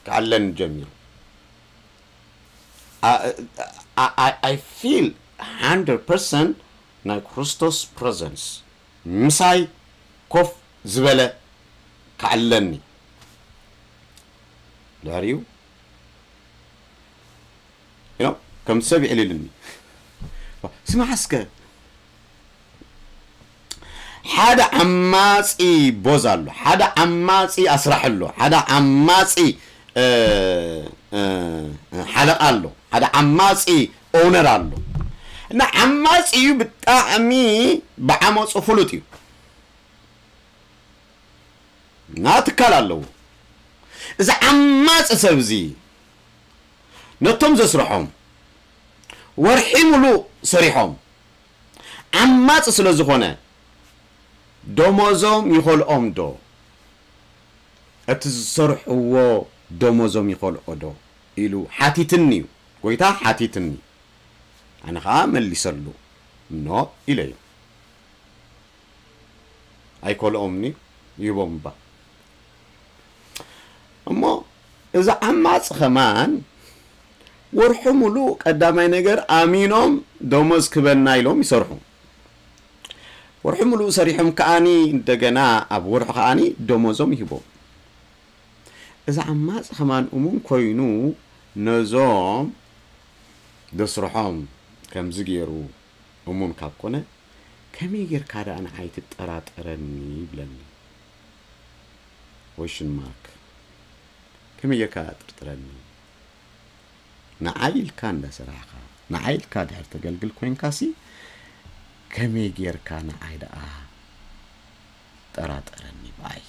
ክዓለን ጀሚሩ። I feel hundred percent ናይ ክርስቶስ presence ምሳይ ኮፍ ዝበለ ክዓለኒ። ድሕሪኡ you know ከም ሰብ ይዕልልኒ። ስማዕ እስከ ሓደ ዓማፂ ቦዝ ኣሎ፣ ሓደ ዓማፂ ኣስራሕ ኣሎ፣ ሓደ ዓማፂ ሓለቃ ኣሎ፣ ሓደ ዓማፂ ኦውነር ኣሎ። እና ዓማፂ እዩ፣ ብጣዕሚ ብዓመፁ ፍሉጥ እዩ። እና ትካል ኣለዎ። እዚ ዓማፂ ሰብ እዚ ነቶም ዘስርሖም ወርሒ ሙሉእ ሰሪሖም ዓማፂ ስለ ዝኾነ ደሞዞም ይኸልኦም ዶ? እቲ ዝሰርሕዎ ደሞዞም ይኸልኦ ዶ ኢሉ ሓቲትኒ እዩ። ጎይታ ሓቲትኒ። ኣነ ኸዓ መሊሰሉ ኖ ኢለዮ። ኣይኮልኦምኒ ይህቦም እባ። እሞ እዚ ዓማፅ ኸማን ወርሑ ሙሉእ ቀዳማይ ነገር ኣሚኖም ደሞዝ ክበና ኢሎም ይሰርሑ። ወርሑ ሙሉእ ሰሪሖም ከኣኒ እንደገና ኣብ ወርሑ ከኣኒ ደሞዞም ይህቦም። እዚ ዓማፅ ኸማን እሙን ኮይኑ ነዞም ደስርሖም ከምዚ ገይሩ እሙን ካብ ኮነ ከመይ ጌርካ ደኣ ንዓይ ትጠራጠረኒ ይብለኒ። Question mark። ከመይ ጌርካ ጥርጥረኒ? ንዓይ ኢልካ እንዳሰራሕካ ንዓይ ኢልካ ድሕር ተገልግል ኮይንካሲ ከመይ ጌርካ ንዓይ ደኣ ጠራጠረኒ ብኣይ።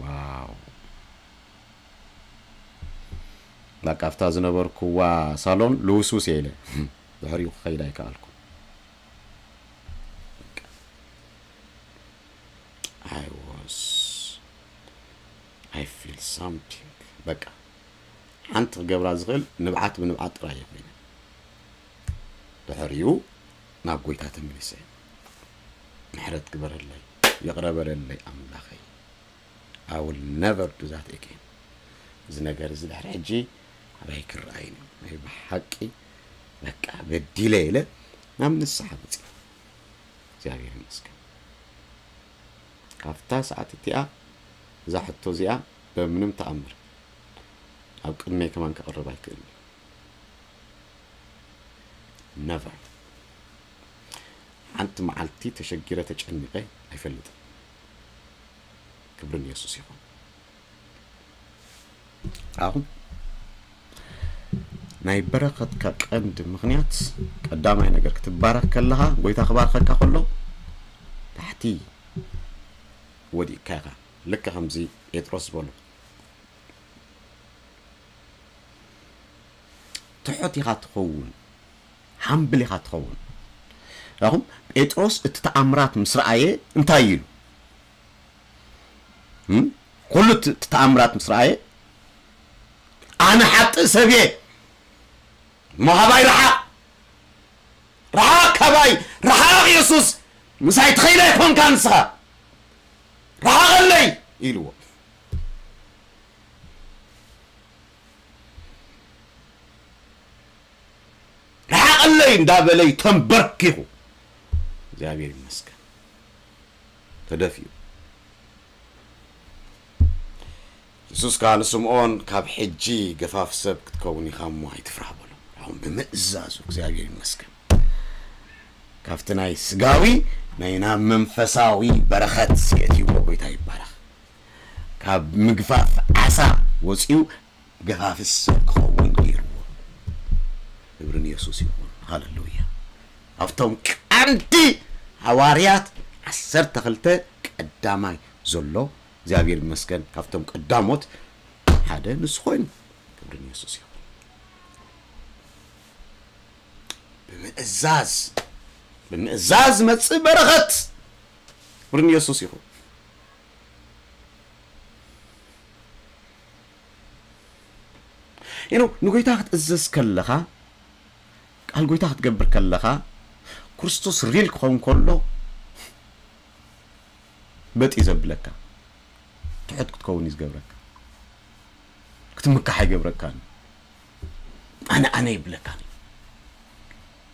ዋው። በቃ ኣብታ ዝነበርኩዋ ሳሎን ልውስውስ እየ ኢለ ድሕሪኡ ክኸይድ ኣይከኣልኩ። I was I feel something በቃ ሓንቲ ክገብራ ዝኽእል ንብዓት ብንብዓት ጥራይ እየ ኮይነ። ድሕሪኡ ናብ ጎይታ ተመሊሰ። ምሕረት ግበረለይ፣ ይቕረ በለለይ ኣምላኸይ። I will never do that again። እዚ ነገር እዚ ድሕሪ ሕጂ ኣባይ ክረኣይን እዩ። ናይ ብሓቂ በቃ በዲለ ኢለ ናብ ንስሓ መፅእ። እግዚኣብሔር ይመስገን። ካብታ ሰዓት እቲኣ እዛ ሕቶ እዚኣ በምንም ተኣምር ኣብ ቅድመይ ከማን ክቕርብ ኣይክእልን። ነቨር ሓንቲ መዓልቲ ተሸጊረ ተጨኒቐ ኣይፈልጥን። ክብርን የሱስ ይኹን። ኣኹም ናይ በረኸትካ ቀንዲ ምኽንያት ቀዳማይ ነገር ክትባረኽ ከለኻ ጎይታ ክባርኸካ ከሎ ታሕቲ ወዲቕካ ኢኻ። ልክ ከምዚ ጴጥሮስ ዝበሎ ትሑት ኢኻ ትኸውን፣ ሃምብል ኢኻ ትኸውን። ራኹም ጴጥሮስ እቲ ተኣምራት ምስ ረኣየ እንታይ ኢሉ? እም? ኩሉ እቲ እቲ ተኣምራት ምስ ረኣየ ኣነ ሓጥእ ሰብ እየ፣ መሃባይ ረሓቕ፣ ረሓቕ ካባይ፣ ረሓቕ የሱስ፣ ምሳይ ትኸይድ ኣይኮንካ ንስኻ፣ ረሓቐለይ ኢልዎ። ረሓቐለይ ለይ እንዳበለይ ተንበርኪኹ እግዚኣብሔር ይመስገን ተደፊኡ። የሱስ ከኣ ንስምዖን፣ ካብ ሕጂ ገፋፍ ሰብ ክትከውን ኢኻ እሞ ኣይትፍራህ በሎ። ኣሁን ብምእዛዙ እግዚኣብሔር ይመስገን ካብቲ ናይ ስጋዊ ናይ ናብ መንፈሳዊ በረኸት የእትይዎ። ጎይታ ይባረኽ። ካብ ምግፋፍ ዓሳ ወፂኡ ገፋፍ ሰብ ክኸውን ገይርዎ። ክብሪ ንየሱስ ይኹን። ሃለሉያ። ኣብቶም ቀንዲ ሃዋርያት ዓሰርተ ክልተ ቀዳማይ ዘሎ እግዚኣብሔር ይመስገን ካብቶም ቀዳሞት ሓደ ንሱ ኮይኑ። ክብሪ ንየሱስ ይኹን። ብምእዛዝ ብምእዛዝ መጽእ በረኸት። ክብሪ ንየሱስ ይኹን። you know ንጎይታ ክትእዘዝ ከለኻ፣ ቃል ጎይታ ክትገብር ከለኻ፣ ክርስቶስ ሪል ክኸውን ከሎ በጥ እዩ ዘብለካ። ትሑት ክትከውን እዩ ዝገብረካ። ክትምካሕ ኣይገብረካን። ኣነ ኣነ ይብለካን።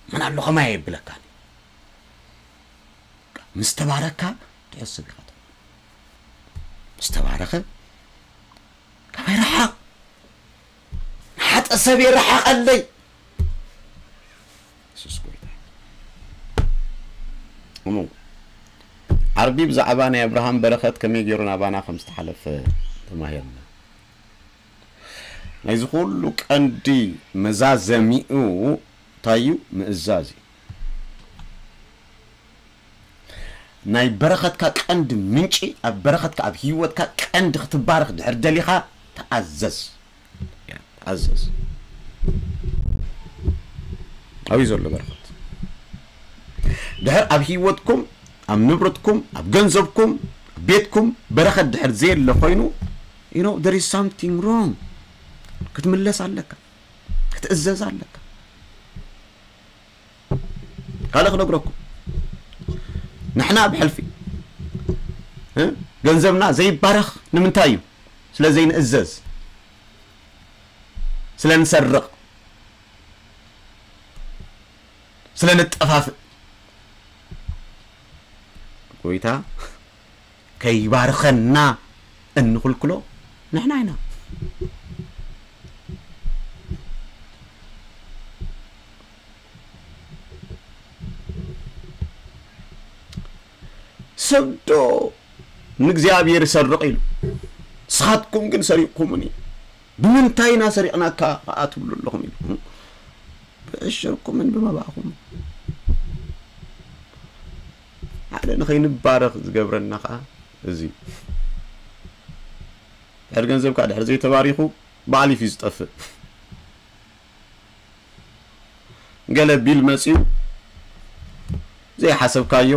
መን ኣሎ ከማይ ይብለካን። ምስ ተባረካ ትሕስብ ኢኻ። ምስ ተባረኸ ካባይ ረሓቕ። ንሓጠ ሰብ የረሓቐለይ። የሱስ ጎይታ። እሞ ዓርቢ ብዛዕባ ናይ ኣብርሃም በረኸት ከመይ ገይሩ ናባና ከም ዝተሓለፈ ተማሂርና። ናይዚ ኩሉ ቀንዲ መዛዘሚኡ እንታይ እዩ? ምእዛዝ እዩ። ናይ በረኸትካ ቀንዲ ምንጪ፣ ኣብ በረኸትካ፣ ኣብ ህይወትካ ቀንዲ ክትባረኽ ድሕር ደሊኻ፣ ተኣዘዝ። ተኣዘዝ። ኣብዩ ዘሎ በረኸት? ድሕር ኣብ ህይወትኩም፣ ኣብ ንብረትኩም፣ ኣብ ገንዘብኩም፣ ኣብ ቤትኩም በረኸት ድሕር ዘየለ ኮይኑ፣ you know there is something wrong። ክትምለስ ኣለካ። ክትእዘዝ ኣለካ። ካልእ ክነግረኩም፣ ንሕና ብሕልፊ እ? ገንዘብና ዘይባረኽ ንምንታይ እዩ? ስለ ዘይንእዘዝ፣ ስለ ንሰርቕ፣ ስለ ንጠፋፍእ። ጎይታ ከይባርኸና እንኽልክሎ ንሕና ኢና። ሰብ ዶ ንእግዚኣብሔር ይሰርቕ ኢሉ፣ ንስኻትኩም ግን ሰሪቕኩምኒ። ብምንታይ ኢና ሰሪቕናካ ኸዓ ትብሉ ኣለኹም ኢሉ። ብዕሽርኩምን ብመባእኹም። ሓደ ንኸይንባረኽ ዝገብረና ኸዓ እዚ። ድሕሪ ገንዘብካ ድሕሪ ዘይተባሪኹ ብኣሊፍ እዩ ዝጠፍእ። ገለ ቢል መጺኡ ዘይሓሰብካዮ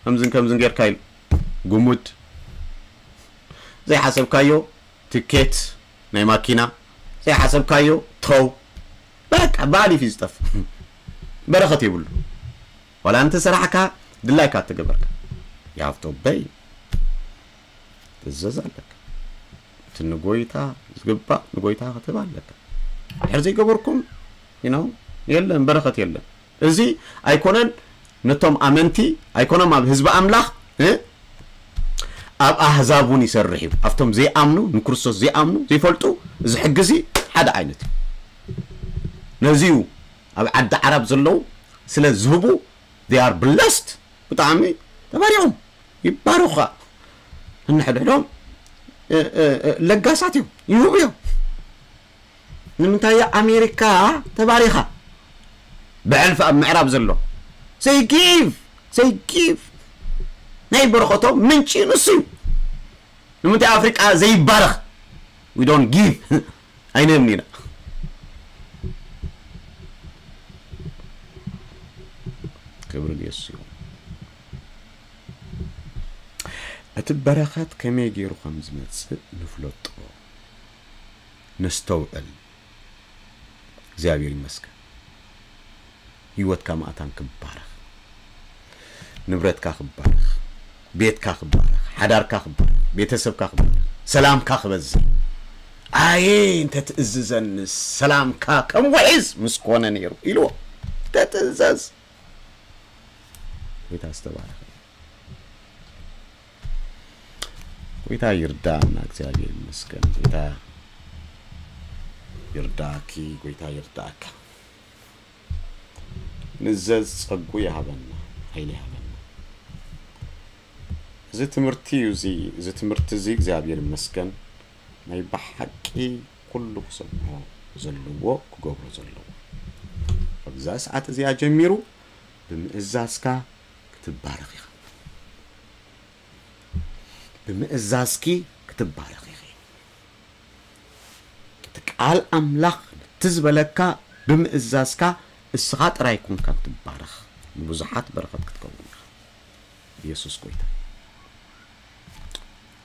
ከምዝን ከምዝን ጌርካ ኢሉ ጉሙድ ዘይሓሰብካዮ ትኬት ናይ ማኪና ዘይሓሰብካዮ ተው በቃ ብኣሊፍ እዩ ዝጠፍእ። በረኸት የብሉ። ዋላ እንተ ሰራሕካ ድላይካ እተገበርካ you have to obey ትእዘዝ ኣለካ። እቲ ንጎይታ ዝግባእ ንጎይታ ክትህብ ኣለካ። ድሕር ዘይገበርኩም you know የለን በረኸት የለን። እዚ ኣይኮነን ነቶም ኣመንቲ ኣይኮኖም ኣብ ህዝቢ ኣምላኽ እ ኣብ ኣህዛብ እውን ይሰርሕ እዩ። ኣብቶም ዘይኣምኑ ንክርስቶስ ዘይኣምኑ ዘይፈልጡ እዚ ሕጊ እዚ ሓደ ዓይነት እዩ። ነዚ እዩ ኣብ ዓዲ ዓረብ ዘለዉ ስለ ዝህቡ they are blessed ብጣዕሚ ተባሪኾም ይባረኹ። ነንሕድሕዶም ለጋሳት እዮም ይህቡ እዮም። ንምንታይ ኣሜሪካ ተባሪኻ ብሕልፊ ኣብ ምዕራብ ዘሎ they give they give ናይ በረኸቶም ምንጪ ንሱ እዩ። ንምንታይ ኣፍሪቃ ዘይባረኽ we don't give ኣይንህብን ኢና። ክብሪ ንየሱስ ይኹን። እቲ በረኸት ከመይ ገይሩ ከም ዝመጽእ ንፍለጦ ነስተውዕል። እግዚኣብሔር ይመስገን። ህይወትካ ማእታን ክባረኽ፣ ንብረትካ ክባረኽ፣ ቤትካ ክባረኽ፣ ሓዳርካ ክባረኽ፣ ቤተሰብካ ክባረኽ፣ ሰላምካ ክበዝሕ። ኣየ እንተ ትእዝዘኒ ሰላምካ ከም ውሒዝ ምስ ኮነ ነይሩ ኢልዎ። ተትእዘዝ። ጎይታ ዝተባረኸ። ጎይታ ይርዳእና። እግዚኣብሔር ይመስገን። ጎይታ ይርዳእኪ። ጎይታ ይርዳእካ። ንዘዝ ጸጉ ይሃበና፣ ሓይሊ ይሃበና። እዚ ትምህርቲ እዩ፣ እዚ፣ እዚ ትምህርቲ እዚ እግዚኣብሔር ይመስገን ናይ ብሓቂ ኩሉ ክሰምዖ ዘለዎ፣ ክገብሮ ዘለዎ። ካብዛ ሰዓት እዚኣ ጀሚሩ ብምእዛዝካ ክትባረኽ ኢኻ። ብምእዛዝኪ ክትባረኽ ኢኺ። እቲ ቃል ኣምላኽ ነቲ ዝበለካ ብምእዛዝካ እስኻ ጥራይ ኮንካ ክትባረኽ፣ ንብዙሓት በረኸት ክትከውን ኢኻ። ኢየሱስ ጎይታ።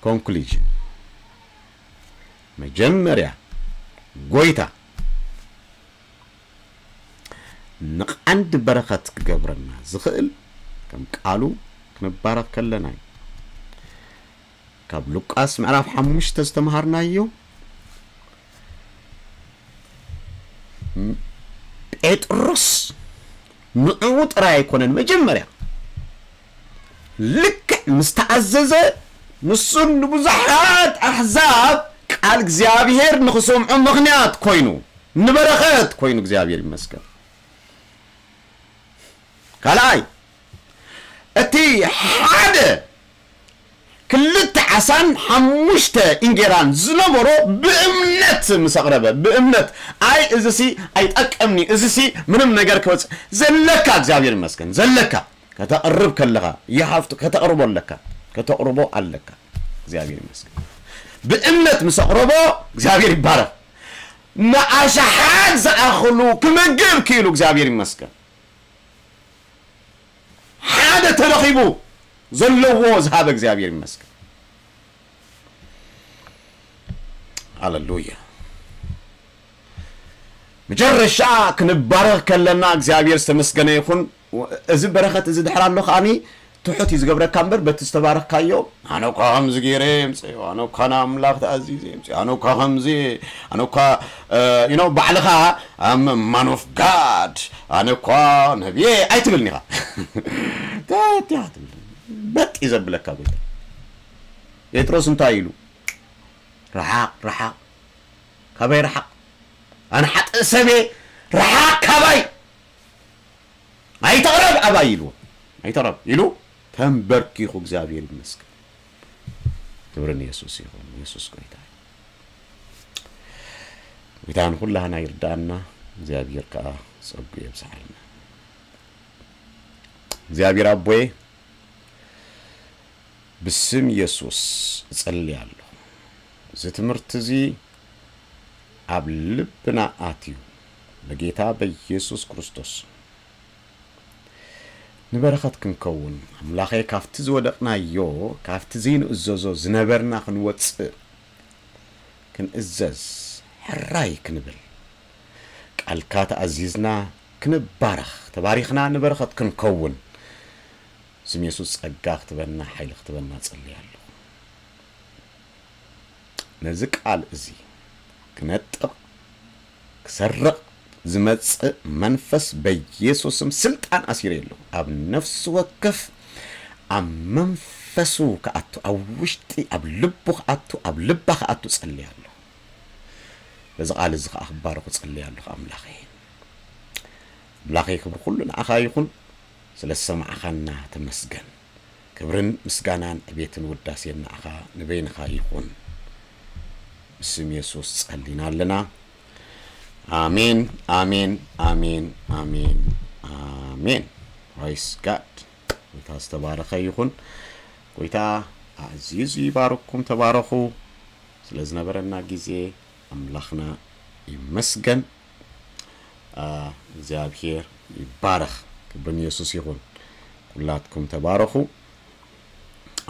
ኮንክሉዥን፣ መጀመርያ ጎይታ ንቐንዲ በረኸት ክገብረና ዝኽእል ከም ቃሉ ክንባረኽ ከለና እዩ። ካብ ሉቃስ ምዕራፍ ሓሙሽተ ዝተምሃርናዮ፣ ም-፣ ጴጥሮስ ንዕኡ ጥራይ ኣይኮነን፣ መጀመርያ ልክዕ ምስ ተኣዘዘ፣ ንሱን ንብዙሓት ኣሕዛብ ቃል እግዚኣብሔር ንኽሰምዑ ምኽንያት ኮይኑ፣ ንበረኸት ኮይኑ፣ እግዚኣብሔር ይመስገን። ካልኣይ፣ እቲ ሓደ ክልተ ዓሳን ሓሙሽተ እንጌራን ዝነበሮ ብእምነት ምስ ኣቕረበ፣ ብእምነት፣ ኣይ፣ እዚሲ ኣይጠቅምኒ፣ እዚሲ ምንም ነገር ክወጽእ፣ ዘለካ፣ እግዚኣብሔር ይመስገን፣ ዘለካ ከተቕርብ ከለኻ፣ you have to፣ ከተቕርቦ ኣለካ፣ ከተቕርቦ ኣለካ። እግዚኣብሔር ይመስገን። ብእምነት ምስ ኣቕረቦ፣ እግዚኣብሔር ይባረኽ። ንኣሽሓት ዝኣኽሉ ክምግብ ክኢሉ፣ እግዚኣብሔር ይመስገን። ሓደ ተረኺቡ፣ ዘለዎ ዝሃበ እግዚኣብሔር ይመስገን። ሃሌሉያ። መጨረሻ ክንባረኽ ከለና እግዚኣብሔር ዝተመስገነ ይኹን። እዚ በረኸት እዚ ድሕር ኣሎ ከኣኒ ትሑት እዩ ዝገብረካ እምበር፣ በቲ ዝተባረኽካዮ፣ "ኣነ እኳ ከምዚ ገይረ የምፅእ፣ ኣነ እኳ ንኣምላኽ ተኣዚዘ የምፅእ፣ ኣነ እኳ ከምዚ፣ ኣነ እኳ፣ እ፣ you know፣ ባዕልኻ፣ I'm a man of God፣ ኣነ እኳ ነብየ" ኣይትብልን ኢኻ። ተትያ ትብል። በጥ እዩ ዘብለካ ጎይታ። ጴጥሮስ እንታይ ኢሉ? "ርሓቕ፣ ርሓቕ፣ ካባይ ርሓቕ፣ ኣነ ሓጥእ ሰብየ፣ ርሓቕ ካባይ፣ ኣይተቕረብ ኣባይ" ኢልዎ። "ኣይተቕረብ" ኢሉ ተንበርኪኹ፣ እግዚኣብሔር ይመስገን። ክብሪ ንየሱስ ይኹን። የሱስ ጎይታ እዩ። ጎይታ ንኹላህና ይርዳእና፣ እግዚኣብሔር ከኣ ጸጉ የብዝሓልና። እግዚኣብሔር ኣቦየ፣ ብስም የሱስ እጸሊ ኣለኹ። እዚ ትምህርቲ እዚ ኣብ ልብና ኣትዩ፣ በጌታ በኢየሱስ ክርስቶስ ንበረኸት ክንከውን፣ ኣምላኸ፣ ካብቲ ዝወደቕናዮ፣ ካብቲ ዘይንእዘዞ ዝነበርና ክንወጽእ፣ ክንእዘዝ፣ ሕራይ ክንብል፣ ቃልካ ተኣዚዝና ክንባረኽ፣ ተባሪኽና ንበረኸት ክንከውን፣ ስም የሱስ ጸጋ ክትበና፣ ሓይሊ ክትበና ጸልየ ኣለኹ። ነዚ ቃል እዚ ክነጥቕ፣ ክሰርቕ ዝመጽእ መንፈስ በኢየሱስ ስም ስልጣን ኣሲረ ኣለኹ። ኣብ ነፍሲ ወከፍ፣ ኣብ መንፈሱ ክኣቱ፣ ኣብ ውሽጢ፣ ኣብ ልቡ ክኣቱ፣ ኣብ ልባ ክኣቱ ጸልየ ኣለኹ። በዚ ቃል እዚ ከኣ ክባረኹ ጸልየ ኣለኹ ኣምላኸይ። ኣምላኸይ ክብሪ ኩሉ ንዓኻ ይኹን፣ ስለ ዝሰማዕኻና ተመስገን። ክብርን ምስጋናን ዕቤትን ውዳሴን ንዓኻ ንበይንኻ ይኹን። ብስም የሱስ ጸሊና ኣለና። ኣሜን፣ ኣሜን፣ ኣሜን፣ ኣሜን፣ ኣሜን። Praise God። ጎይታ ዝተባረኸ ይኹን። ጎይታ ኣዕዚዙ ይባርኩም። ተባረኹ። ስለ ዝነበረና ግዜ ኣምላኽና ይመስገን። አ፣ እግዚኣብሔር ይባረኽ። ክብሪ ንየሱስ ይኹን። ኩላትኩም ተባረኹ።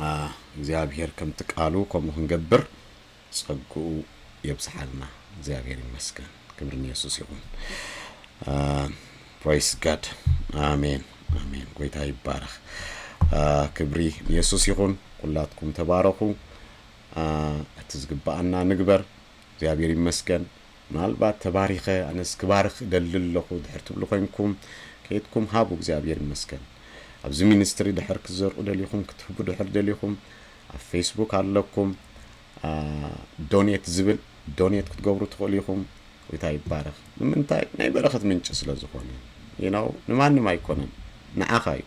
አ፣ እግዚኣብሔር ከምቲ ቃሉ ከምኡ ክንገብር ጸግኡ የብዝሓልና። እግዚኣብሔር ይመስገን። ክብሪ ንየሱስ ይኹን። አ፣ praise God። ኣሜን፣ ኣሜን። ጎይታ ይባረኽ። አ፣ ክብሪ ንየሱስ ይኹን። ኩላትኩም ተባረኹ። አ፣ እቲ ዝግብኣና ንግበር። እግዚኣብሔር ይመስገን። ምናልባት ተባሪኸ፣ ኣነስ ክባርኽ እደሊ ኣለኹ ድሕር ትብሉ ኮይንኩም፣ ኣስተያየትኩም ሃቡ። እግዚኣብሔር ይመስገን። ኣብዚ ሚኒስትሪ ድሕር ክትዘርኡ ደሊኹም፣ ክትህቡ ድሕር ደሊኹም፣ ኣብ ፌስቡክ ኣለኩም፣ ዶኔት ዝብል ዶኔት ክትገብሩ ትኽእሉ ኢኹም። ጎይታ ይባረኽ። ንምንታይ? ናይ በረኸት ምንጪ ስለ ዝኾነ። You know፣ ንማንም ኣይኮነን፣ ንዓኻ እዩ።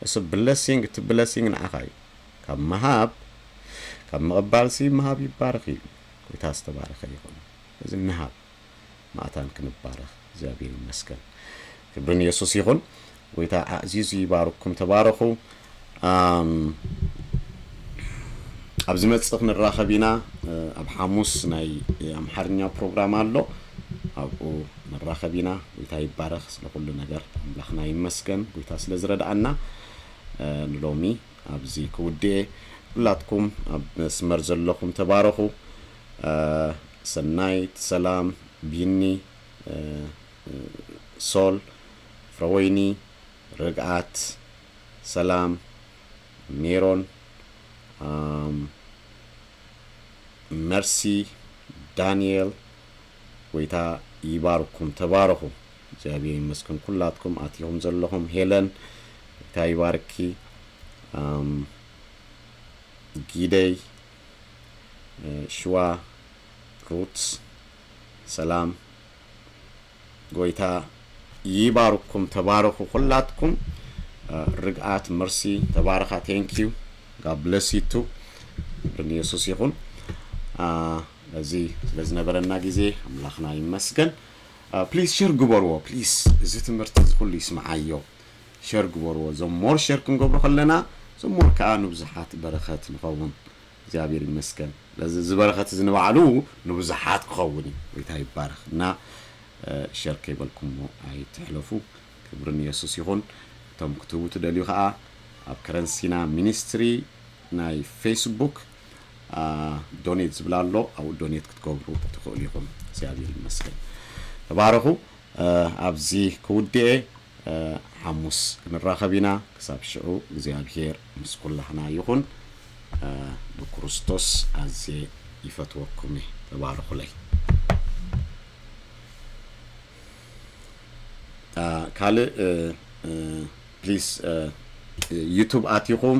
እሱ ብለሲንግ፣ እቲ ብለሲንግ ንዓኻ እዩ። ካብ ምሃብ፣ ካብ ምቕባልሲ ምሃብ ይባረኽ እዩ። ጎይታ ዝተባረኸ ይኹን። እዚ ንሃብ፣ ማእታን ክንባረኽ እግዚኣብሔር ይመስገን። ክብሪ ንየሱስ ይኹን። ጎይታ ኣዕዚዙ ይባርኩም፣ ተባረኹ። ኣም፣ ኣብ ዝመጽእ ክንራኸብ ኢና። ኣብ ሓሙስ ናይ ኣምሓርኛ ፕሮግራም ኣሎ፣ ኣብኡ ንራኸብ ኢና። ጎይታ ይባረኽ ስለ ኩሉ ነገር፣ ኣምላኽና ይመስገን፣ ጎይታ ስለ ዝረድኣና። ንሎሚ ኣብዚ ክውድኤ፣ ኩላትኩም ኣብ መስመር ዘለኹም ተባረኹ። ሰናይት፣ ሰላም፣ ቢኒ፣ ሶል፣ ፍረወይኒ፣ ርግኣት፣ ሰላም፣ ሜሮን፣ ኣም፣ መርሲ፣ ዳንኤል፣ ጎይታ ይባርኩም፣ ተባረኹ። እግዚኣብሔር ይመስገን ኩላትኩም ኣቲኹም ዘለኹም። ሄለን፣ ጎይታ ይባርኪ። ኣም፣ ጊደይ፣ ሽዋ፣ ሩት፣ ሰላም፣ ጎይታ ይባርኩም፣ ተባረኹ ኩላትኩም። ርግኣት፣ መርሲ፣ ተባረኻ። Thank you፣ God bless you too። ክብሪ ንየሱስ ይኹን። እዚ ስለ ዝነበረና ግዜ ኣምላኽና ይመስገን። ፕሊዝ ሸር ግበርዎ ፕሊዝ። እዚ ትምህርቲ እዚ ኩሉ ይስምዓዮ። ሸር ግበርዎ። ዘሞር ሸር ክንገብሮ ከለና ዘሞር ከዓ ንብዙሓት በረኸት ንኸውን። እግዚኣብሔር ይመስገን። ስለዚ እዚ በረኸት እዚ ንባዕሉ ንብዙሓት ክኸውን እዩ። ጎይታ ይባረኽ። እና ሸር ከይበልኩሞ ኣይትሕለፉ። ክብሪ ንየሱስ ይኹን። እቶም ክትህቡ ትደልዩ ከዓ ኣብ ከረንሲና ሚኒስትሪ ናይ ፌስቡክ ዶኔት ዝብል ኣሎ፣ ኣብኡ ዶኔት ክትገብሩ ትኽእሉ ኢኹም። እግዚኣብሔር ይመስገን። ተባረኹ። ኣብዚ ክውድኤ፣ ሓሙስ ክንራኸብ ኢና። ክሳብ ሽዑ እግዚኣብሔር ምስ ኩላህና ይኹን። ብክርስቶስ ኣዝየ ይፈትወኩም እየ። ተባረኹለይ። ካልእ ፕሊስ ዩቱብ ኣቲኹም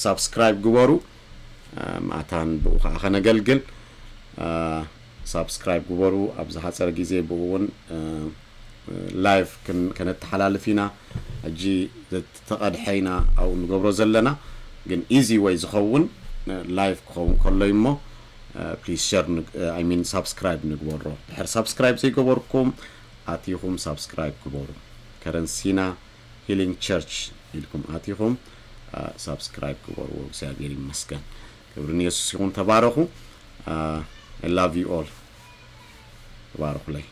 ሳብስክራይብ ግበሩ። ማእታን ብኡ ከዓ ከነገልግል ሳብስክራይብ ግበሩ። ኣብ ዝሓፀረ ግዜ ብኡ እውን ላይቭ ከነተሓላልፍ ኢና። ሕጂ ዝተቐድሐ ኢና ኣብኡ ንገብሮ ዘለና፣ ግን ኢዚ ወይ ዝኸውን ላይቭ ክኸውን ከሎ እሞ ፕሊስ ሸር ሚን ሳብስክራይብ ንግበሮ። ድሕር ሳብስክራይብ ዘይገበርኩም ኣቲኹም ሳብስክራይብ ግበሩ። ከረንሲና ሂሊንግ ቸርች ኢልኩም ኣቲኹም ሳብስክራይብ ግበርዎ። እግዚኣብሔር ይመስገን። ክብሪ ንየሱስ ይኹን። ተባረኹ። I love you all። ተባረኹለይ።